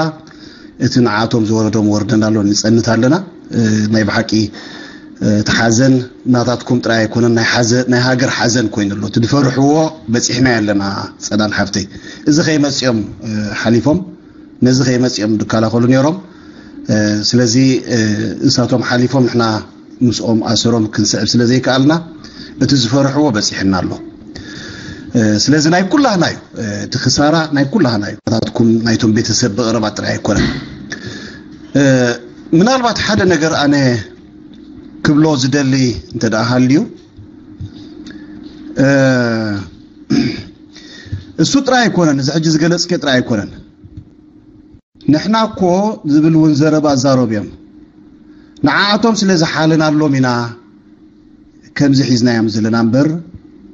እቲ ንዓኣቶም ዝወረዶም ወርደና ኣሎ፣ ንጸንት ኣለና። እ፣ ናይ ብሓቂ እቲ ሓዘን ናታትኩም ጥራይ ኣይኮነን፣ ናይ ሓዘ-፣ ናይ ሃገር ሓዘን ኮይኑ ኣሎ። እቲ ዝፈርሕዎ በጺሕና ኣለና ጸዳል ሓፍተይ። እዚ ከይመጽኦም፣ እ፣ ሓሊፎም፣ ነዚ ከይመጽኦም ዝከላኸሉ ነይሮም። እ፣ ስለዚ፣ እ፣ እሳቶም ሓሊፎም ንሕና ምስኦም ኣሰሮም ክንስዕብ ስለ ዘይከኣልና እቲ ዝፈርሕዎ በጺሕና ኣሎ። እ፣ ስለዚ ናይ ኩላህና እዩ። እ፣ እቲ ክሳራ ናይ ኩላህና እዩ። ናታትኩም ናይቶም ቤተሰብ ብቐረባ ጥራይ ኣይኮነን። እ፣ ምናልባት ሓደ ነገር ኣነ ክብሎ ዝደሊ እንተ ደኣ ሃልዩ፣ እ፣ እሱ ጥራይ ኣይኮነን፣ እዚ ሕጂ ዝገለጽክዮ ጥራይ ኣይኮነን። ንሕና እኮ ዝብል እውን ዘረባ ኣዛረቡ እዮም። ንዓኣቶም ስለ ዝሓለናሎም ኢና ከምዚ ሒዝናዮም ዘለና እምበር፣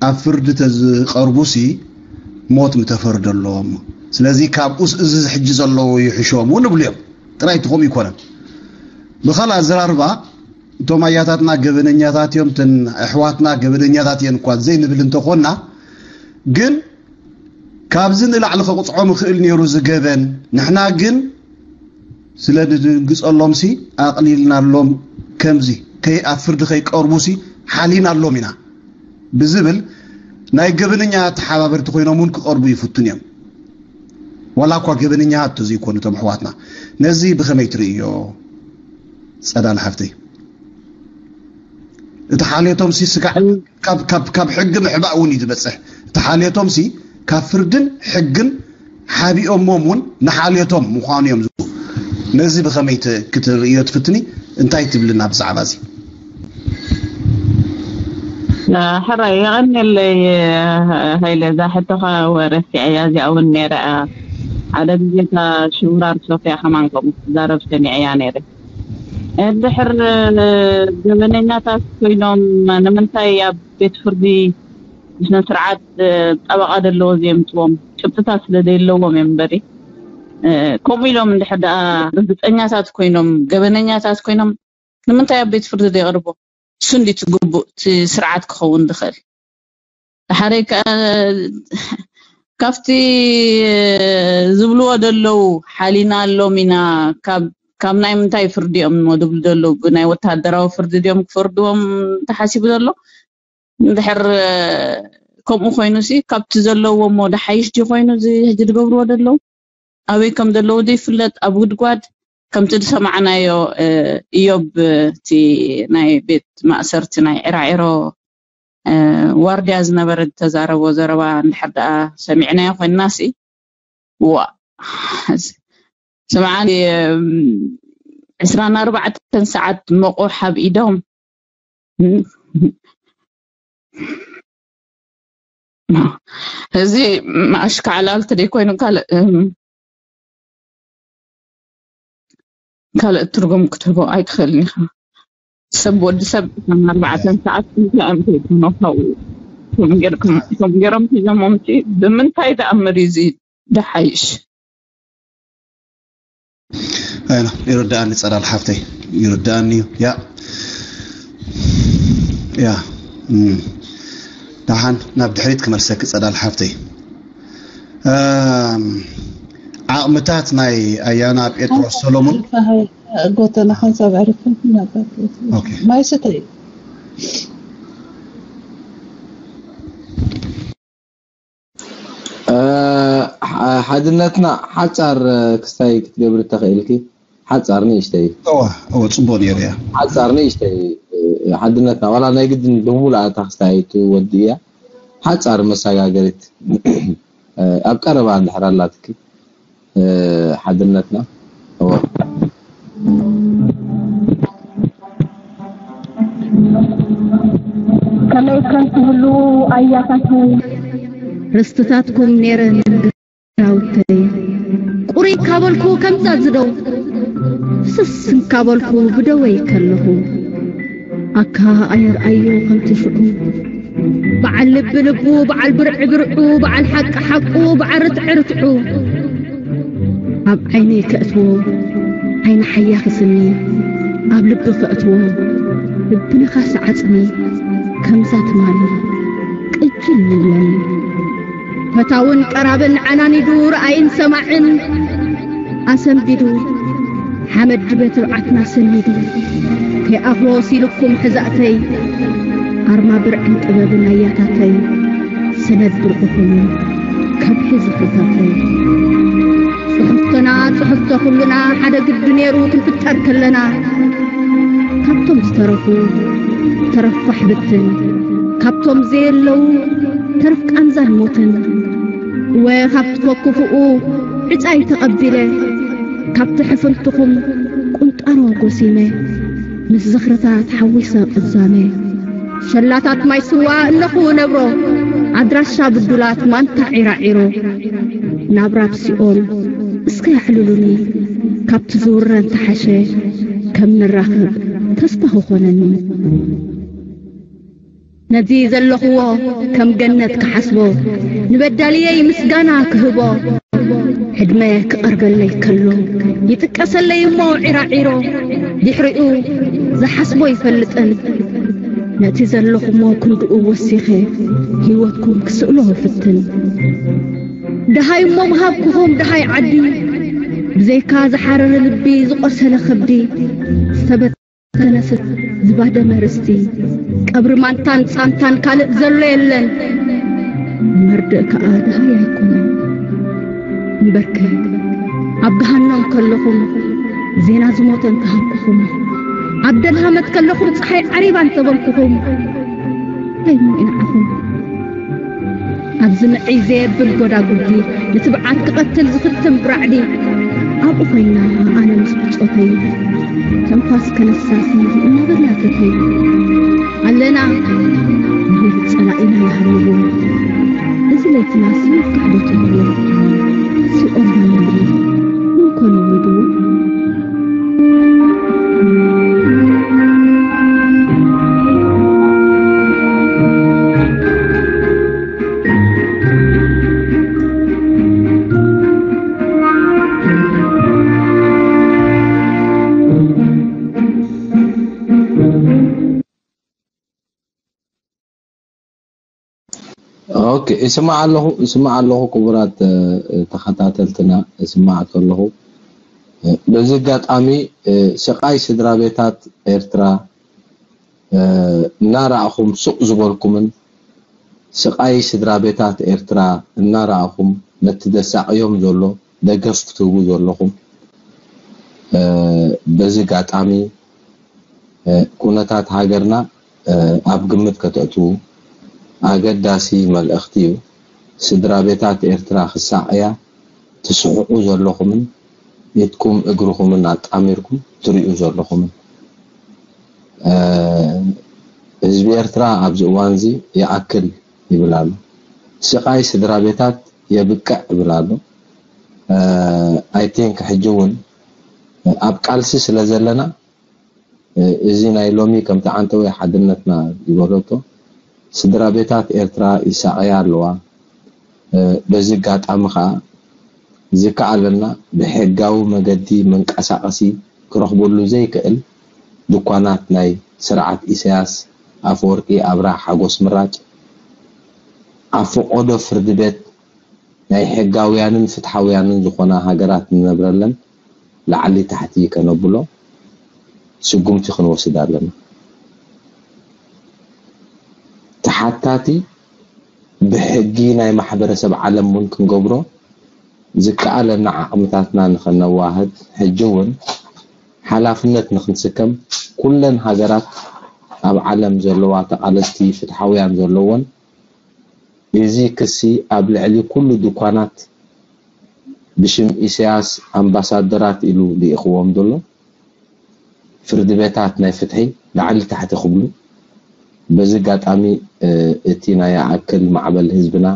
ኣብ ፍርዲ ተዝቐርቡሲ ሞት ምተፈርደሎም። ስለዚ ካብኡስ እዚ ሕጂ ዘለዉ ይሕሾም እውን ንብሉ እዮም። ጥራይ እቲ ከምኡ ይኮነን። ብኻልእ ኣዘራርባ፣ እቶም ኣያታትና ገበነኛታት እዮም፣ እተን ኣሕዋትና ገበነኛታት እየን እኳ ዘይንብል እንተኾንና፣ ግን ካብዚ ንላዕሊ ከቕጽዖም ይኽእል ነይሩ እዚ ገበን። ንሕና ግን ስለ ንድንግጸሎምሲ ኣቕሊልናሎም፣ ከምዚ ከይ-፣ ኣብ ፍርዲ ከይቀርቡሲ ሓሊናሎም ኢና ብዝብል ናይ ገበነኛ ተሓባበርቲ ኮይኖም እውን ክቐርቡ ይፍትኑ እዮም። ዋላ እኳ ገበነኛታት እንተዘይኮኑ እቶም ኣሕዋትና። ነዚ ብኸመይ ትርእዮ ጸዳል ሓፍተይ? እቲ ሓልዮቶም ሲ ስጋዕ ካብ፣ ካብ፣ ካብ ሕጊ ምሕባእ እውን እዩ ዝበጽሕ። እቲ ሓልዮቶም ሲ ካብ ፍርድን ሕግን ሓቢኦሞም እውን ንሓልዮቶም ምዃኑ እዮም ዝብሉ። ነዚ ብኸመይ ት-፣ ክትርእዮ ትፍትኒ? እንታይ ትብልና ብዛዕባ እዚ? ሕራይ የቐንየለይ ሃይለ፣ እዛ ሕቶኻ ወረሲዐያ፣ እዚኣ እውን ነይራ። ሓደ ግዜ እታ ሽውራር ሶፍያ ከማን ከምኡ ትዛረብ ሰሚዐያ ነይረ። እንድሕር ገበነኛታት ኮይኖም ንምንታይ ኣብ ቤት ፍርዲ ብስነ ስርዓት ጠበቓ ዘለዎ ዘየምፅዎም? ጭብጥታት ስለ ዘየለዎም እዮም እምበሪ፣ ከምኡ ኢሎም እንድሕር ደኣ ርግፀኛታት ኮይኖም፣ ገበነኛታት ኮይኖም ንምንታይ ኣብ ቤት ፍርዲ ዘይቕርቦ? እሱ እንዲ እቲ ግቡእ እቲ ስርዓት ክኸውን ዝኽእል። ሓደ ከ-፣ ካብቲ ዝብልዎ ዘለዉ ሓሊና ኣሎም ኢና፣ ካብ፣ ካብ ናይ ምንታይ ፍርዲ እዮም እሞ ዝብሉ ዘለዉ? ብናይ ወተሃደራዊ ፍርዲ ድዮም ክፈርድዎም ተሓሲቡ ዘሎ? እንድሕር ከምኡ ኮይኑሲ ካብቲ ዘለውዎ እሞ ደሓይሽ ድዩ ኮይኑ እዚ ሕጂ ዝገብርዎ ዘለዉ? ኣበይ ከም ዘለዉ ዘይፍለጥ ኣብ ጉድጓድ ከምቲ ዝሰማዕናዮ፣ እ፣ እዮብ እቲ ናይ ቤት ማእሰርቲ ናይ ዒራዒሮ፣ እ፣ ዋርድያ ዝነበረ ዝተዛረቦ ዘረባ እንድሕር ደኣ ሰሚዕናዮ ኮይንናሲ፣ ዋ፣ ስምዓኒ፣ እም፣ ዕስራን ኣርባዕተን ሰዓት መቑሕ ኣብ ኢዶም። እዚ ኣሽካዕላል ተደይኮይኑ ካልእ፣ እም፣ ካልእ ትርጉም ክትህቦ ኣይትኽእልን ኢኻ። ሰብ፣ ወዲ ሰብ ዕስራን ኣርባዕተን ሰዓት እንታይ እዮም ከይኮኑ ካብኡ? ከም ገይር-፣ ከም፣ ከም ገይሮም ሒዞሞምሲ ብምንታይ ደኣ እምበር እዩ እዚ ደሓይሽ? ኣይኖ፣ ይርድኣኒ ጸዳል ሓፍተይ፣ ይርድኣኒ እዩ። ያ፣ ያ፣ እም፣ ደሓን ናብ ድሕሪት ክመልሰኪ ጸዳል ሓፍተይ። እም፣ ዓቕምታት ናይ ኣያና ጴጥሮስ ሰሎሞን። ጎተና ሓንሳብ ዕርፍን ነበር። ኦኬ። ማይ ስተይ። እ፣ ሓ-፣ ሓድነትና ሓጻር፣ እ፣ ክስታይ ክትገብሪ ተኽእልኪ? ሓጻር ንእሽተይ። እወ፣ እወ፣ ጽቡቕ ነይሩ እያ። ሓጻር ንእሽተይ፣ እ፣ ሓድነትና ዋላ ናይ ግድን ብምሉእ ኣታ ክስታይ ኣይትወድእያ። ሓጻር መሰጋገሪት፣ እ፣ ኣብ ቀረባ እንድሕር ኣላትኪ፣ እ፣ ሓድነትና። እወ። ከመይ ከም ትህልዉ ኣያታተይ። ርስትታትኩም ነይረን ግራውተይ። ቁሩይ ካበልኩ ከምዛ ዝደው። ፍስስ እንካበልኩ ብደወይ ከለኹ። ኣካ ኣየርኣዮ ከምቲ ሽዑ። በዓል ልቢ ልቡ፣ በዓል ብርዒ ብርዑ፣ በዓል ሓቂ ሓቁ፣ በዓል ርትዒ ርትዑ። ኣብ ዓይነይ ከእትዎ ዓይኒ ሓያኺ ስኒ፣ ኣብ ልቢ ከእትዎ ልቢ ነኻሲ ዓጽሚ፣ ከምዛ ትማሊ ቅጅል ይብለኒ። ፈታውን ቀራብን ዓናኒዱ፣ ረኣይን ሰማዕን ኣሰንቢዱ፣ ሓመድ ድበ ትብዓትና ሰኒዱ። የኣኽሎ ሲልኩም ሕዛእተይ ኣርማ ብርዕን ጥበብን ኣያታተይ ሰነድ ብርዕኹም ከብሒ ዝኽርታተይ ጽሕፍቶና ጽሕፍቶ ኩልና ሓደ ግዲ ነይሩ ክንፍጠር ከለና ካብቶም ዝተረፉ ተረፋሕ ብትን ካብቶም ዘየለዉ ተረፍ ቃንዛን ሞትን እወ ካብ ትፈኩፍኡ ዕጻይ ተቐቢለ ካብቲ ሕፍንትኹም ቁንጣሮ ጎሲመ ምስ ዝኽርታት ሓዊሰ ቅዛመ ሸላታት ማይ ስዋ እነኹ ነብሮ ኣድራሻ ብዱላት ማንታ ዒራዒሮ ናብራ ብሲኦል እስከ ያሕልሉኒ ካብቲ ዝውረን ተሓሸ ከም ንራኸብ ተስፋ ክኾነኒ ነዚ ዘለኽዎ ከም ገነት ክሓስቦ ንበዳልየይ ምስጋና ክህቦ ዕድመ ክቐርበለይ ከሎ ይጥቀሰለይ እሞ ዒራዒሮ ድሕሪኡ ዝሓስቦ ይፈልጥን ነቲ ዘለኹሞ ክንድኡ ወሲኸ ህይወትኩም ክስእሎ ፍትን ደሃይ እሞ ምሃብኩኹም ደሃይ ዓዲ ብዘይካ ዝሓረረ ልቢ ዝቆሰለ ከብዲ ዝተበ ተነስት ዝባደመ ርስቲ ቀብሪ ማንታን ጻንታን ካልእ ዘሎ የለን መርድእ ከኣ ድሃይ ኣይኮነን እምበርከ ኣብ ገሃኖም ከለኹም ዜና ዝሞተ እንተሃብኩኹም ኣብ ደልሃመት ከለኹም ፀሓይ ዓሪባ እንተበልኩኹም እንታይ እሞ ኢንዓኹም ኣብዚ ንዕይ ዘየብል ጎዳጉዲ ንትብዓት ክቐትል ዝፍትን ብራዕዲ ኣብኡ ኮይና ኣነ ምስ ብጾተይ ተንፋስ ከነሳሲ እናበላ ተተይ ኣለና ንብል ጸላኢና ይሃብዎ እዚ ለይትና ስዩፍ ካሕዶ ትብሎ ሲኦል ይምሪ ምንኮን ይምድዎ ኦኬ፣ ይስማዕ ኣለኹ፣ ይስማዕ ኣለኹ ክቡራት ተኸታተልትና፣ ይስማዕ ከለኹ በዚ ኣጋጣሚ ስቓይ ስድራ ቤታት ኤርትራ እናረኣኹም ሱቕ ዝበልኩምን ስቓይ ስድራ ቤታት ኤርትራ እናረኣኹም ነቲ ዘሳቕዮም ዘሎ ደገፍ ክትህቡ ዘለኹም በዚ ኣጋጣሚ ኩነታት ሃገርና ኣብ ግምት ከተእትዉ ኣገዳሲ መልእኽቲ እዩ። ስድራ ቤታት ኤርትራ ክሳቐያ ትስሕቑ ዘለኹምን ኢድኩም እግርኹምን ኣጣሚርኩም ትሪኡ ዘለኹምን ህዝቢ ኤርትራ ኣብዚ እዋን እዚ ይኣክል ይብል ኣሎ። ስቓይ ስድራ ቤታት የብቅዕ ይብል ኣሎ። I think ሕጂ እውን ኣብ ቃልሲ ስለ ዘለና እዚ ናይ ሎሚ ከምቲ ዓንተወይ ሓድነትና ዝበለቶ ስድራ ቤታት ኤርትራ ይሳቐያ ኣለዋ። በዚ ኣጋጣሚ ከዓ ዝከኣለና ብሕጋዊ መገዲ መንቀሳቐሲ ክረኽበሉ ዘይክእል ድኳናት ናይ ስርዓት ኢሳያስ ኣፈወርቂ ኣብርሃ ሓጎስ ምራጭ ኣብ ፈቆዶ ፍርዲ ቤት ናይ ሕጋውያንን ፍትሓውያንን ዝኾና ሃገራት ንነብረለን ላዕሊ ታሕቲ ከነብሎ ስጉምቲ ክንወስድ ኣለና። ተሓታቲ ብሕጊ ናይ ማሕበረሰብ ዓለም እውን ክንገብሮ ዝከኣለና ዓቕምታትና ንኸነዋህድ ሕጂ እውን ሓላፍነት ንኽንስከም ኩለን ሃገራት ኣብ ዓለም ዘለዋ ተቓለስቲ ፍትሓውያን ዘለወን እዚ ክሲ ኣብ ልዕሊ ኩሉ ድኳናት ብሽም ኢሳያስ ኣምባሳደራት ኢሉ ልኢኽዎም ዘሎ ፍርዲ ቤታት ናይ ፍትሒ ላዕሊ ታሕቲ ክብሉ በዚ ኣጋጣሚ እቲ ናይ ይኣክል ማዕበል ህዝብና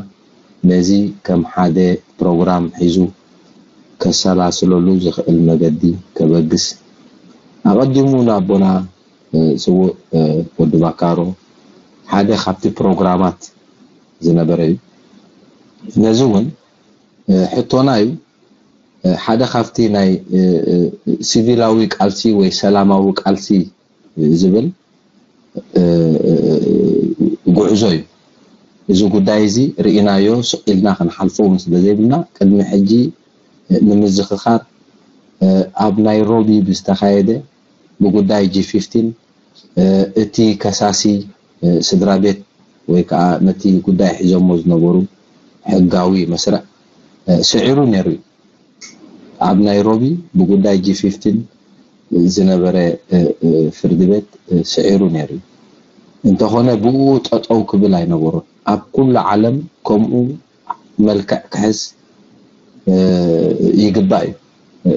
ነዚ ከም ሓደ ፕሮግራም ሒዙ ከሰላስለሉ ዝኽእል መገዲ ከበግስ ኣቐዲሙ ንኣቦና ስዉእ ወዲ ባካሮ ሓደ ካብቲ ፕሮግራማት ዝነበረ እዩ። ነዚ እውን ሕቶና እዩ። ሓደ ካብቲ ናይ ሲቪላዊ ቃልሲ ወይ ሰላማዊ ቃልሲ ዝብል ጉዕዞ እዩ። እዚ ጉዳይ እዚ ርኢናዮ ስቕ ኢልና ክንሓልፎ እውን ስለ ዘይብልና ቅድሚ ሕጂ ንምዝኽኻር ኣብ ናይሮቢ ብዝተኻየደ ብጉዳይ ጂ ፊፍቲን እቲ ከሳሲ ስድራ ቤት ወይ ከዓ ነቲ ጉዳይ ሒዞሞ ዝነበሩ ሕጋዊ መስርዕ ስዒሩ ነይሩ እዩ። ኣብ ናይሮቢ ብጉዳይ ጂ ፊፍቲን ዝነበረ ፍርዲ ቤት ስዒሩ ነይሩ እዩ። እንተኾነ ብኡ ጠጠው ክብል ኣይነበሮን። ኣብ ኩሉ ዓለም ከምኡ መልክዕ ክሕዝ ይግባእ እዩ።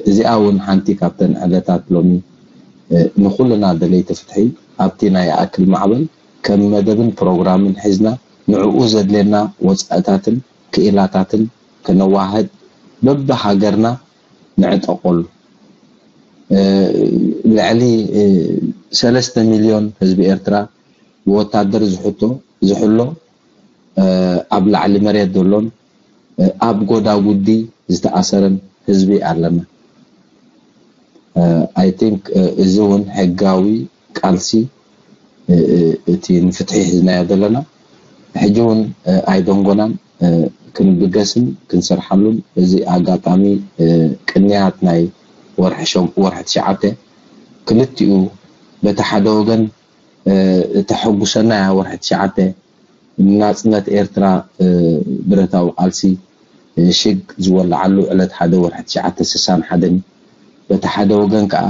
እዚኣ እውን ሓንቲ ካብተን ዕለታት ሎሚ ንኩልና ደለይቲ ፍትሒ ኣብቲ ናይ ይኣክል ማዕበል ከም መደብን ፕሮግራምን ሒዝና ንዕኡ ዘድልየና ወፃእታትን ክኢላታትን ከነዋህድ በብሃገርና ንዕጠቐሉ። ልዕሊ ሰለስተ ሚልዮን ህዝቢ ኤርትራ ብወታደር ዝሕቶ ዝሕሎ ኣብ ላዕሊ መሬት ዘሎን ኣብ ጎዳጉዲ ዝተኣሰረን ህዝቢ ኣለና። I think እዚ እውን ሕጋዊ ቃልሲ እቲ ንፍትሒ ሒዝናዮ ዘለና ሕጂ እውን ኣይደንጎናን። ክንብገስን ክንሰርሓሉን እዚ ኣጋጣሚ ቅንያት ናይ ወርሒ ሸም- ወርሒ ትሽዓተ ክልቲኡ በቲ ሓደ ወገን እተሐጉሰና እያ። ወርሒ ትሽዓተ ናጽነት ኤርትራ ብረታዊ ቃልሲ ሽግ ዝወለዓሉ ዕለት ሓደ ወርሒ ትሽዓተ ስሳን ሓደን እዩ። በቲ ሓደ ወገን ከኣ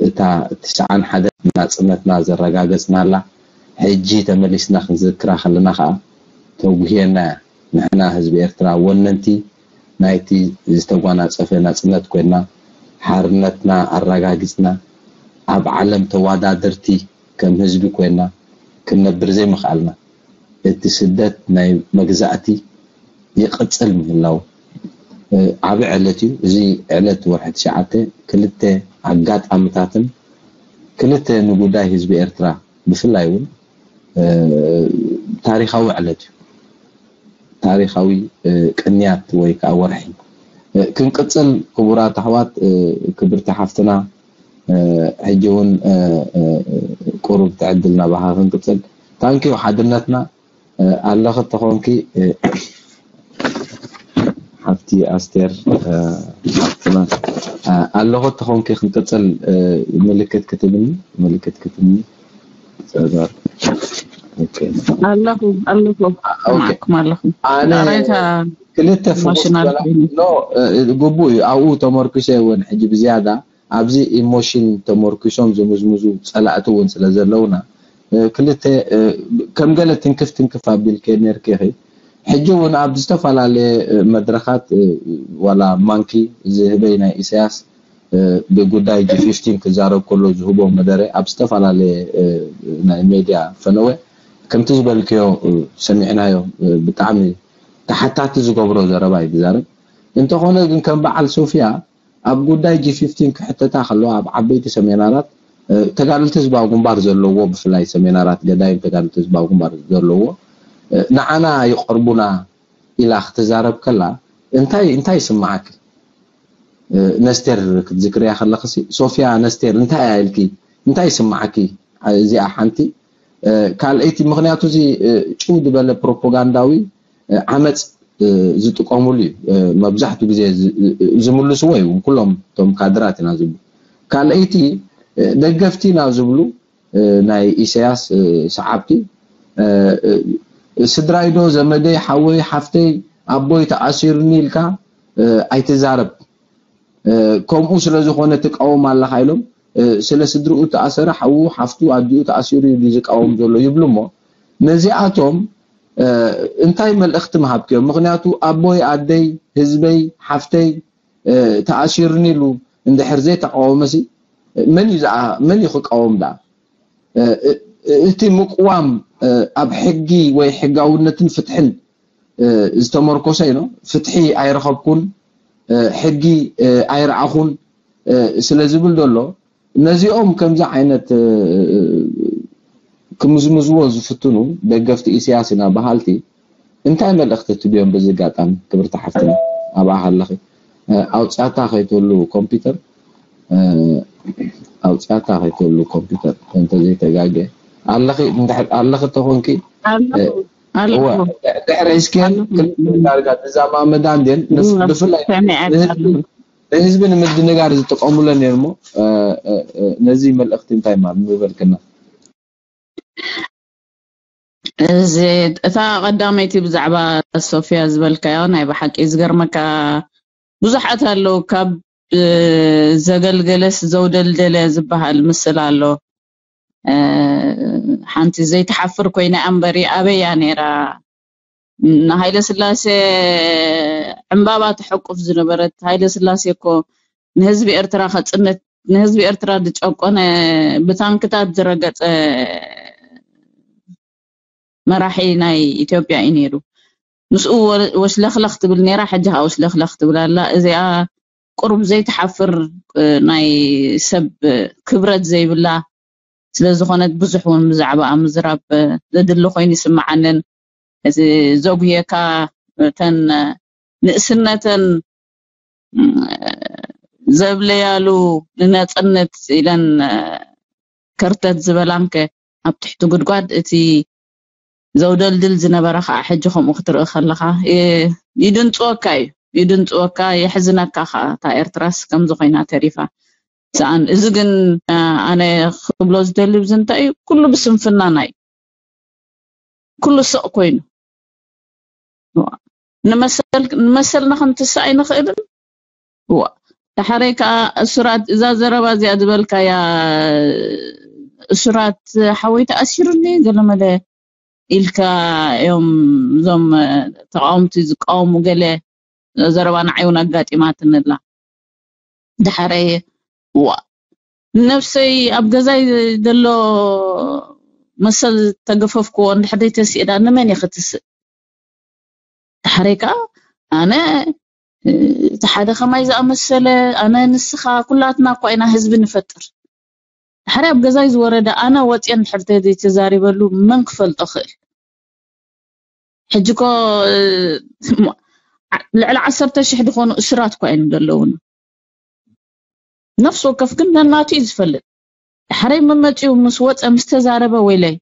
እታ ትስዓን ሓደን ናጽነትና ዘረጋገጽናላ ሕጂ ተመሊስና ክንዝክራ ከለና ከኣ ተጉህየና እያ። ንሕና ህዝቢ ኤርትራ ወነንቲ ናይቲ ዝተጓናጸፈ ናጽነት ኮይና ሓርነትና ኣረጋጊጽና ኣብ ዓለም ተወዳደርቲ ከም ህዝቢ ኮይና ክንነብር ዘይምኽኣልና፣ እቲ ስደት ናይ መግዛእቲ ይቕጽል ምህላው ዓቢ ዕለት እዩ። እዚ ዕለት ወርሒ ትሽዓተ ክልተ ኣጋጣምታትን ክልተ ንጉዳይ ህዝቢ ኤርትራ ብፍላይ እውን ታሪኻዊ ዕለት እዩ። ታሪኻዊ ቅንያት ወይ ከዓ ወርሒ ክንቅጽል ክቡራት ኣሕዋት ክብርቲ ሓፍትና ሕጂ እውን ቁሩብ ትዕድል ናባኻ ክንቅጽል ታንኪዩ ሓድነትና ኣለኺ ተኾንኪ ሓፍቲ ኣስቴር ሓፍትና ኣለኹ ተኾንኪ ክንቅጽል ምልክት ክትብኒ ምልክት ክትብኒ ጸበር ኣለኹ ኣለኹ ማዕኩም ኣለኹ ኣነ ክልተ ፍጉስ ግቡእ እዩ ኣብኡ ተመርኩሰ እውን ሕጂ ብዝያዳ ኣብዚ ኢሞሽን ተመርኪሶም ዝምዝምዙ ጸላእቲ እውን ስለ ዘለውና ክልተ ከም ገለ ትንክፍ ትንክፍ ኣቢልከ ነርኪ ኢኺ ሕጂ እውን ኣብ ዝተፈላለየ መድረኻት ዋላ ማንኪ ዝህበይ ናይ ኢሳያስ ብጉዳይ ጂ ፊፍቲን ክዛረብ ከሎ ዝህቦ መደረ ኣብ ዝተፈላለየ ናይ ሜድያ ፈነወ ከምቲ ዝበልክዮ ሰሚዕናዮ ብጣዕሚ ተሓታቲ ዝገብሮ ዘረባ እዩ ዝዛረብ እንተኾነ ግን ከም በዓል ሶፊያ ኣብ ጉዳይ ጂ ፊፍቲን ክሕተታ ከለዋ ኣብ ዓበይቲ ሰሜናራት ተጋደልቲ ህዝባዊ ግንባር ዘለዎ ብፍላይ ሰሜናራት ገዳይም ተጋደልቲ ህዝባዊ ግንባር ዘለዎ ንዓና ይቐርቡና ኢላ ክትዛረብ ከላ እንታይ እንታይ ይስምዓኪ ነስቴር ክትዝክርያ ከለኽሲ ሶፊያ ነስቴር እንታይ እያ ኢልኪ እንታይ ይስምዓኪ እዚኣ ሓንቲ ካልኣይቲ ምኽንያቱ እዚ ጭው ዝበለ ፕሮፓጋንዳዊ ዓመፅ ዝጥቀሙሉ እዩ መብዛሕትኡ ግዜ ዝምልስዎ እዩ ኩሎም እቶም ካድራት ኢና ዝብሉ ካልኣይቲ ደገፍቲ ኢና ዝብሉ ናይ ኢሳያስ ሰዓብቲ ስድራይዶ ዘመደይ ሓወይ ሓፍተይ ኣቦይ ተኣሲሩኒ ኢልካ ኣይትዛረብ ከምኡ ስለ ዝኾነ ትቃወም ኣለኻ ኢሎም ስለ ስድርኡ ተኣሰረ ሓዉ ሓፍቱ ኣዲኡ ተኣሲሩ እዩ ዝቃወም ዘሎ ይብሉ እሞ ነዚኣቶም እንታይ መልእኽቲ ምሃብክዮም ምኽንያቱ ኣቦይ ኣደይ ህዝበይ ሓፍተይ ተኣሲሩኒ ኢሉ እንድሕር ዘይተቃወመሲ መን እዩ መን እዩ ክቃወም ደኣ እቲ ምቅዋም ኣብ ሕጊ ወይ ሕጋውነትን ፍትሕን ዝተመርኮሰ ኢኖ ፍትሒ ኣይረኸብኩን ሕጊ ኣይረኣኹን ስለ ዝብል ዘሎ ነዚኦም ከምዚ ዓይነት ክምዝምዝዎ ዝፍትኑ ደገፍቲ ኢሳያስ ኢና በሃልቲ እንታይ መልእኽቲ ትብዮም በዚ ኣጋጣሚ ክብርቲ ሓፍትና ኣብኣ ኣለኺ ኣውፅኣታ ከይትህሉ ኮምፒውተር ኣውፅኣታ ከይትህሉ ኮምፒውተር እንተዘይተጋገ ኣለኺ ኣለኺ ተኾንኪ ድሕሪ እስኬል ዳርጋ ተዛማመዳ እንዴን ብፍላይ ንህዝቢ ንምድንጋር ዝጥቀሙለን እየን እሞ፣ እ፣ እ፣ እ፣ ነዚ መልእኽቲ እንታይ ማለት ምበልክና? እዚ እታ ቀዳመይቲ ብዛዕባ ሶፊያ ዝበልካዮ ናይ ብሓቂ ዝገርመካ ብዙሓት ኣለዉ። ካብ እ፣ ዘገልገለስ ዘውደልደለ ዝበሃል ምስል ኣሎ። እ፣ ሓንቲ ዘይትሓፍር ኮይና እምበሪ ኣበያ ነይራ? ንሃይለ ስላሴ ዕምባባ ተሐቁፍ ዝነበረት ሃይለ ስላሴ እኮ ንህዝቢ ኤርትራ ከጽንት ንህዝቢ ኤርትራ ዝጨቆነ ብታንክታት ዝረገጸ መራሒ ናይ ኢትዮጵያ እዩ ነይሩ። ምስኡ ወ- ወሽለኽለኽ ትብል ነይራ፣ ሕጂ ከዓ ወሽለኽለኽ ትብል ኣላ። እዚኣ ቁሩብ ዘይትሓፍር እ፣ ናይ ሰብ እ፣ ክብረት ዘይብላ ስለ ዝኾነት ብዙሕ እውን ብዛዕባኣ ምዝራብ እ፣ ዘድሊ ኮይኑ ይስምዓንን እቲ ዘጉህየካ እተን እ፣ ንእስነተን እ፣ ዘብለያሉ ንነጽነት ኢለን እ፣ ከርተት ዝበላንከ ኣብ ትሕቲ ጉድጓድ እቲ ዘውደልድል ዝነበረ ከዓ ሕጂ ከምኡ ክትርኢ ከለኻ እ፣ ይድንፅወካ እዩ ይድንፅወካ የሕዝነካ ከዓ እታ ኤርትራስ ከምዚ ኮይና ተሪፋ ሰኣን እዚ ግን እ፣ ኣነ ክብሎ ዝደሊ ብዚ እንታይ እዩ ኩሉ ብስንፍናና እዩ ኩሉ ስቕ ኮይኑ ንመሰል ንመሰልና ክንትስእ ኣይንኽእልን ዋ ዳሓረይ ከዓ እሱራት እዛ ዘረባ እዚኣ ዝበልካያ እሱራት ሓወይ ተኣሲሩኒ ገለመለ ኢልካ እዮም እዞም ተቃወምቲ ዝቃወሙ ገለ ዘረባ ንዓይ እውን ኣጋጢማትንላ ዳሓረይ ዋ ነብሰይ ኣብ ገዛይ ዘሎ መሰል ተገፈፍክዎ እንድሕር ተስእዳ ንመን እየ ክትስእ ዳሕረይ ከዓ ኣነ እቲ ሓደ ከማይ ዝኣመሰለ ኣነ ንስኻ ኩላትና እኳ ኢና ህዝቢ ንፈጥር ዳሕረይ ኣብ ገዛይ ዝወረደ ኣነ ወፅየ እንድሕር ተዘይተዛሪበሉ መን ክፈልጦ ክእል ሕጂ ኮ ልዕሊ ዓሰርተ ሽሕ ዝኾኑ እሱራት እኳ እዮም ዘለውና ነፍሲ ወከፍ ግን ነናቱ እዩ ዝፈልጥ ዳሕረይ መመፂኡ ምስ ወፀ ምስ ተዛረበ ወይለይ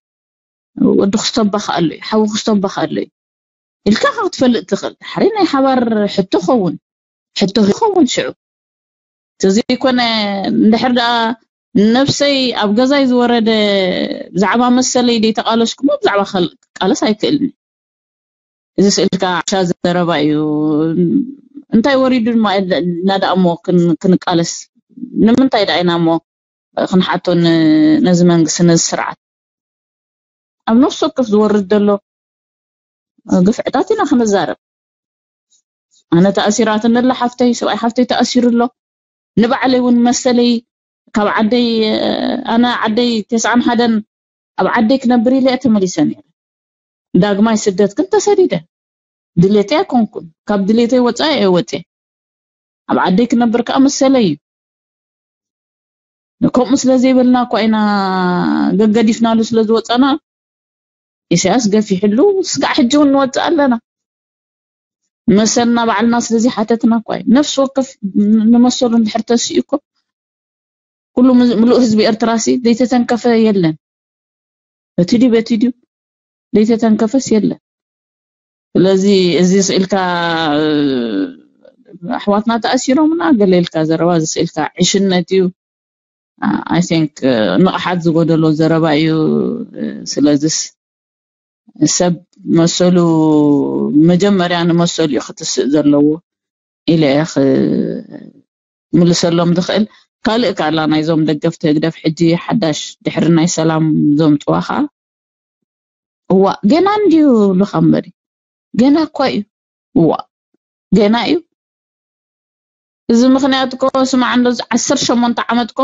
ወዲ ክስተባኽ ኣሎ እዩ ሓዊ ክስተባኽ ኣሎ እዩ ኢልካ ካብ ትፈልጥ ትኽእል ዳሕረይ ናይ ሓባር ሕቶ ኸውን ሕቶ ይኸውን ሽዑ ተዘይኮነ እንድሕር ደኣ ነብሰይ ኣብ ገዛይ ዝወረደ ብዛዕባ መሰለይ ደይተቃለስኩሞ ብዛዕባ ክቃለስ ኣይክእልን እዚ ስእልካ ዓሻ ዘረባ እዩ እንታይ ወሪዱ ድማ እና ደኣ እሞ ክንቃለስ ንምንታይ ደኣ ኢና እሞ ክንሓቶ ነዚ መንግስቲ ነዚ ስርዓት ኣብ ነፍሲ ወከፍ ዝወርድ ዘሎ ግፍዕታት ኢና ክንዛረብ ኣነ ተኣሲራትኒ ኣላ ሓፍተይ ሰብኣይ ሓፍተይ ተኣሲሩ ኣሎ ንባዕለይ እውን መሰለይ ካብ ዓደይ ኣነ ዓደይ ተስዓን ሓደን ኣብ ዓደይ ክነብር ኢለ እየ ተመሊሰ ነይረ ዳግማይ ስደት ግን ተሰዲደ ድሌተይ ኣይኮንኩን ካብ ድሌተይ ወፃኢ እየ ወፅየ ኣብ ዓደይ ክነብር ከዓ መሰለይ እዩ ከምኡ ስለ ዘይበልና እኳ ኢና ገገዲፍናሉ ስለ ዝወፀና ኢሳያስ ገፊሕሉ ስጋዕ ሕጂ እውን ንወፅእ ኣለና መሰልና ባዕልና ስለዚ ሓተትና እኳ እዩ ነፍሲ ወከፍ ንመሰሉ እንድሕር ተስኡ እኮ ኩሉ ምሉእ ህዝቢ ኤርትራ ሲ ዘይተተንከፈ የለን በቲ ድዩ በቲ ድዩ ዘይተተንከፈስ የለን ስለዚ እዚ ስኢልካ ኣሕዋትና ተኣሲሮምና ገለ ኢልካ ዘረባ እዚ ስኢልካ ዕሽነት እዩ I think ንቕሓት ዝጎደሎ ዘረባ እዩ ስለዚስ ሰብ መሰሉ መጀመርያ ንመሰሉ እዩ ክትስእ ዘለዎ ኢለ እየ ምልሰሎም ዝኽእል ካልእ ካላ ናይዞም ደገፍቲ ህግደፍ ሕጂ ሓዳሽ ድሕሪ ናይ ሰላም ዘምፅዋ ከዓ እዋ ገና እንድዩ ብሉኻ እምበሪ ገና እኳ እዩ እዋ ገና እዩ እዚ ምኽንያት እኮ ስማዕ እንዶ ዓሰርተ ሸሞንተ ዓመት እኮ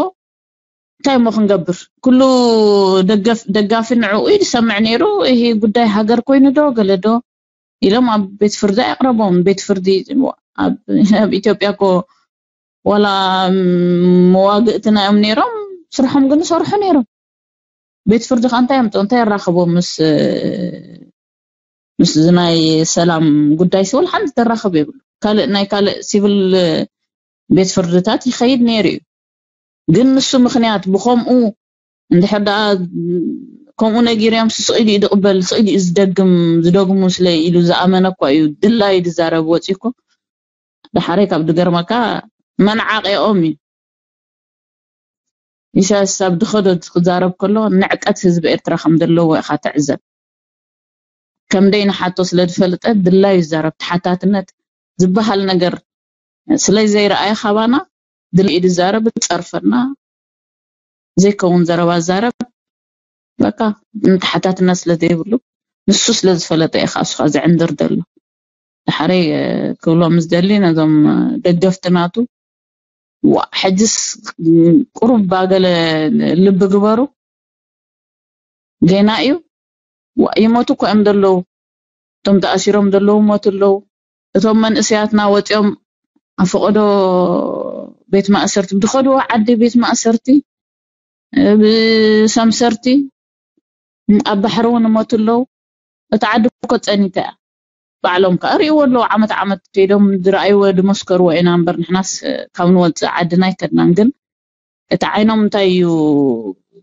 እንታይ እሞ ክንገብር ኩሉ ደጋፊ ንዕኡ እዩ ዝሰምዕ ነይሩ ይሄ ጉዳይ ሃገር ኮይኑ ዶ ገለ ዶ ኢሎም ኣብ ቤት ፍርዲ ኣቕረቦም ቤት ፍርዲ ኣብ ኢትዮጵያ እኮ ዋላ መዋግእቲ ናዮም ነይሮም ስርሖም ግን ይሰርሑ ነይሮም ቤት ፍርዲ ከዓ እንታይ ኣምፅኦ እንታይ የራኽቦም ምስ ምስ ናይ ሰላም ጉዳይ ሲቪል ሓንቲ ተራኽብ የብሉ ካልእ ናይ ካልእ ሲቪል ቤት ፍርድታት ይኸይድ ነይሩ እዩ ግን ንሱ ምኽንያት ብኸምኡ እንድሕር ደኣ ከምኡ ነጊርዮም ስቕ ኢሉ እዩ ዝቕበል ስቕ ኢሉ እዩ ዝደግም ዝደግሙ ስለ ኢሉ ዝኣመነ እኳ እዩ ድላዩ ዝዛረብ ወፂ እኮ ዳሓረይ ካብ ዝገርመካ መናዓቂኦም እዩ። ኢሳያስ ኣብ ድኸዶ ክዛረብ ከሎ ንዕቀት ህዝቢ ኤርትራ ከም ዘለዎ ኢኻ ትዕዘብ። ከም ደይ ንሓቶ ስለ ዝፈልጠ ድላዩ ይዛረብ። ተሓታትነት ዝበሃል ነገር ስለ ዘይረኣየ ካባና ድልኢድ ዛረብ ጸርፈና ዘይከውን ዘረባ ዛረብ። በቃ ንተሓታትነት ስለ ዘይብሉ ንሱ ስለ ዝፈለጠ ኢኻ እሱኻ ዝዕንድር ዘሎ። ድሓረይ ክብሎም ዝደሊ ነዞም ደገፍቲ ናቱ፣ ዋ ሕጅስ ቁሩብ ባገለ ልቢ ግበሩ። ጌና እዩ። ዋ ይሞቱ እኮ እዮም ዘለዉ። እቶም ተኣሲሮም ዘለዉ ሞቱ ኣለዉ። እቶም መንእሰያትና ወፂኦም ኣፈቀዶ ቤት ማእሰርቲ ብድኸድዎ ዓዲ ቤት ማእሰርቲ ብሰምሰርቲ ኣብ ባሕሪ እውን እሞቱ ኣለዉ። እቲ ዓዲ እኮ ፀኒተ እያ። ባዕሎም ከኣ ርእይዎ ኣለዉ። ዓመት ዓመት ከይዶም ዝረኣይዎ ዝመስከርዎ ኢና እምበር ንሕናስ ካብ ንወፅእ ዓድና ኣይከድናን። ግን እቲ ዓይኖም እንታይ እዩ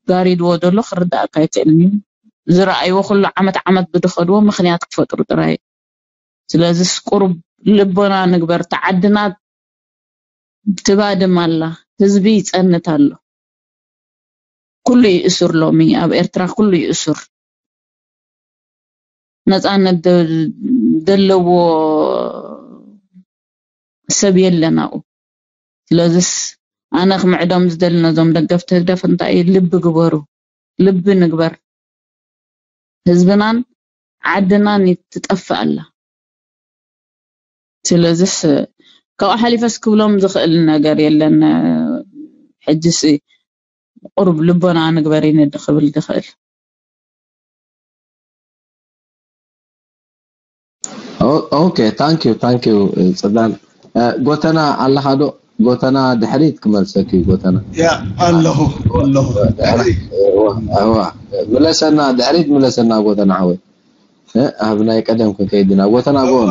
ጋሪድዎ ዘሎ ክርዳእካ ኣይክእልን እዩ። ዝረኣይዎ ኩሉ ዓመት ዓመት ብድኸድዎ ምኽንያት ክፈጥሩ ጥራይ። ስለዚስ ቁሩብ ልቦና ንግበር። ተዓድና ትባድም ኣላ። ህዝቢ ይጸንት ኣሎ። ኩሉ ይእሱር ሎሚ ኣብ ኤርትራ ኩሉ ይእሱር። ነጻነት ደ- ደለዎ ሰብ የለን ኣብኡ። ስለዚስ ኣነ ክምዕዶም ዝደሊ ነዞም ደገፍቲ ህግደፍ እንታይ እዩ? ልቢ ግበሩ። ልቢ ንግበር። ህዝብናን ዓድናን ትጠፍእ ኣላ። ስለዚስ ካብኡ ሓሊፈስ ክብሎም ዝኽእል ነገር የለን። ሕጅስ ቁሩብ ልቦና ንግበር ኢነ ክብል ዝኽእል። ኦኬ ታንክ ዩ ታንክ ዩ ጽላል። ጎተና ኣለኻ ዶ? ጎተና ድሕሪት ክመልሰክ እዩ ጎተና። ያ ኣለኹ ኣለኹ። እዋ ምለሰና ድሕሪት ምለሰና ጎተና ሓወይ። ኣብ ናይ ቀደም ክንከይድ ኢና ጎተና ጎን።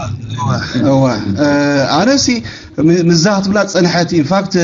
እዋ ኣነሲ ምዛ ክትብላ ዝጸንሐት ኢንፋክት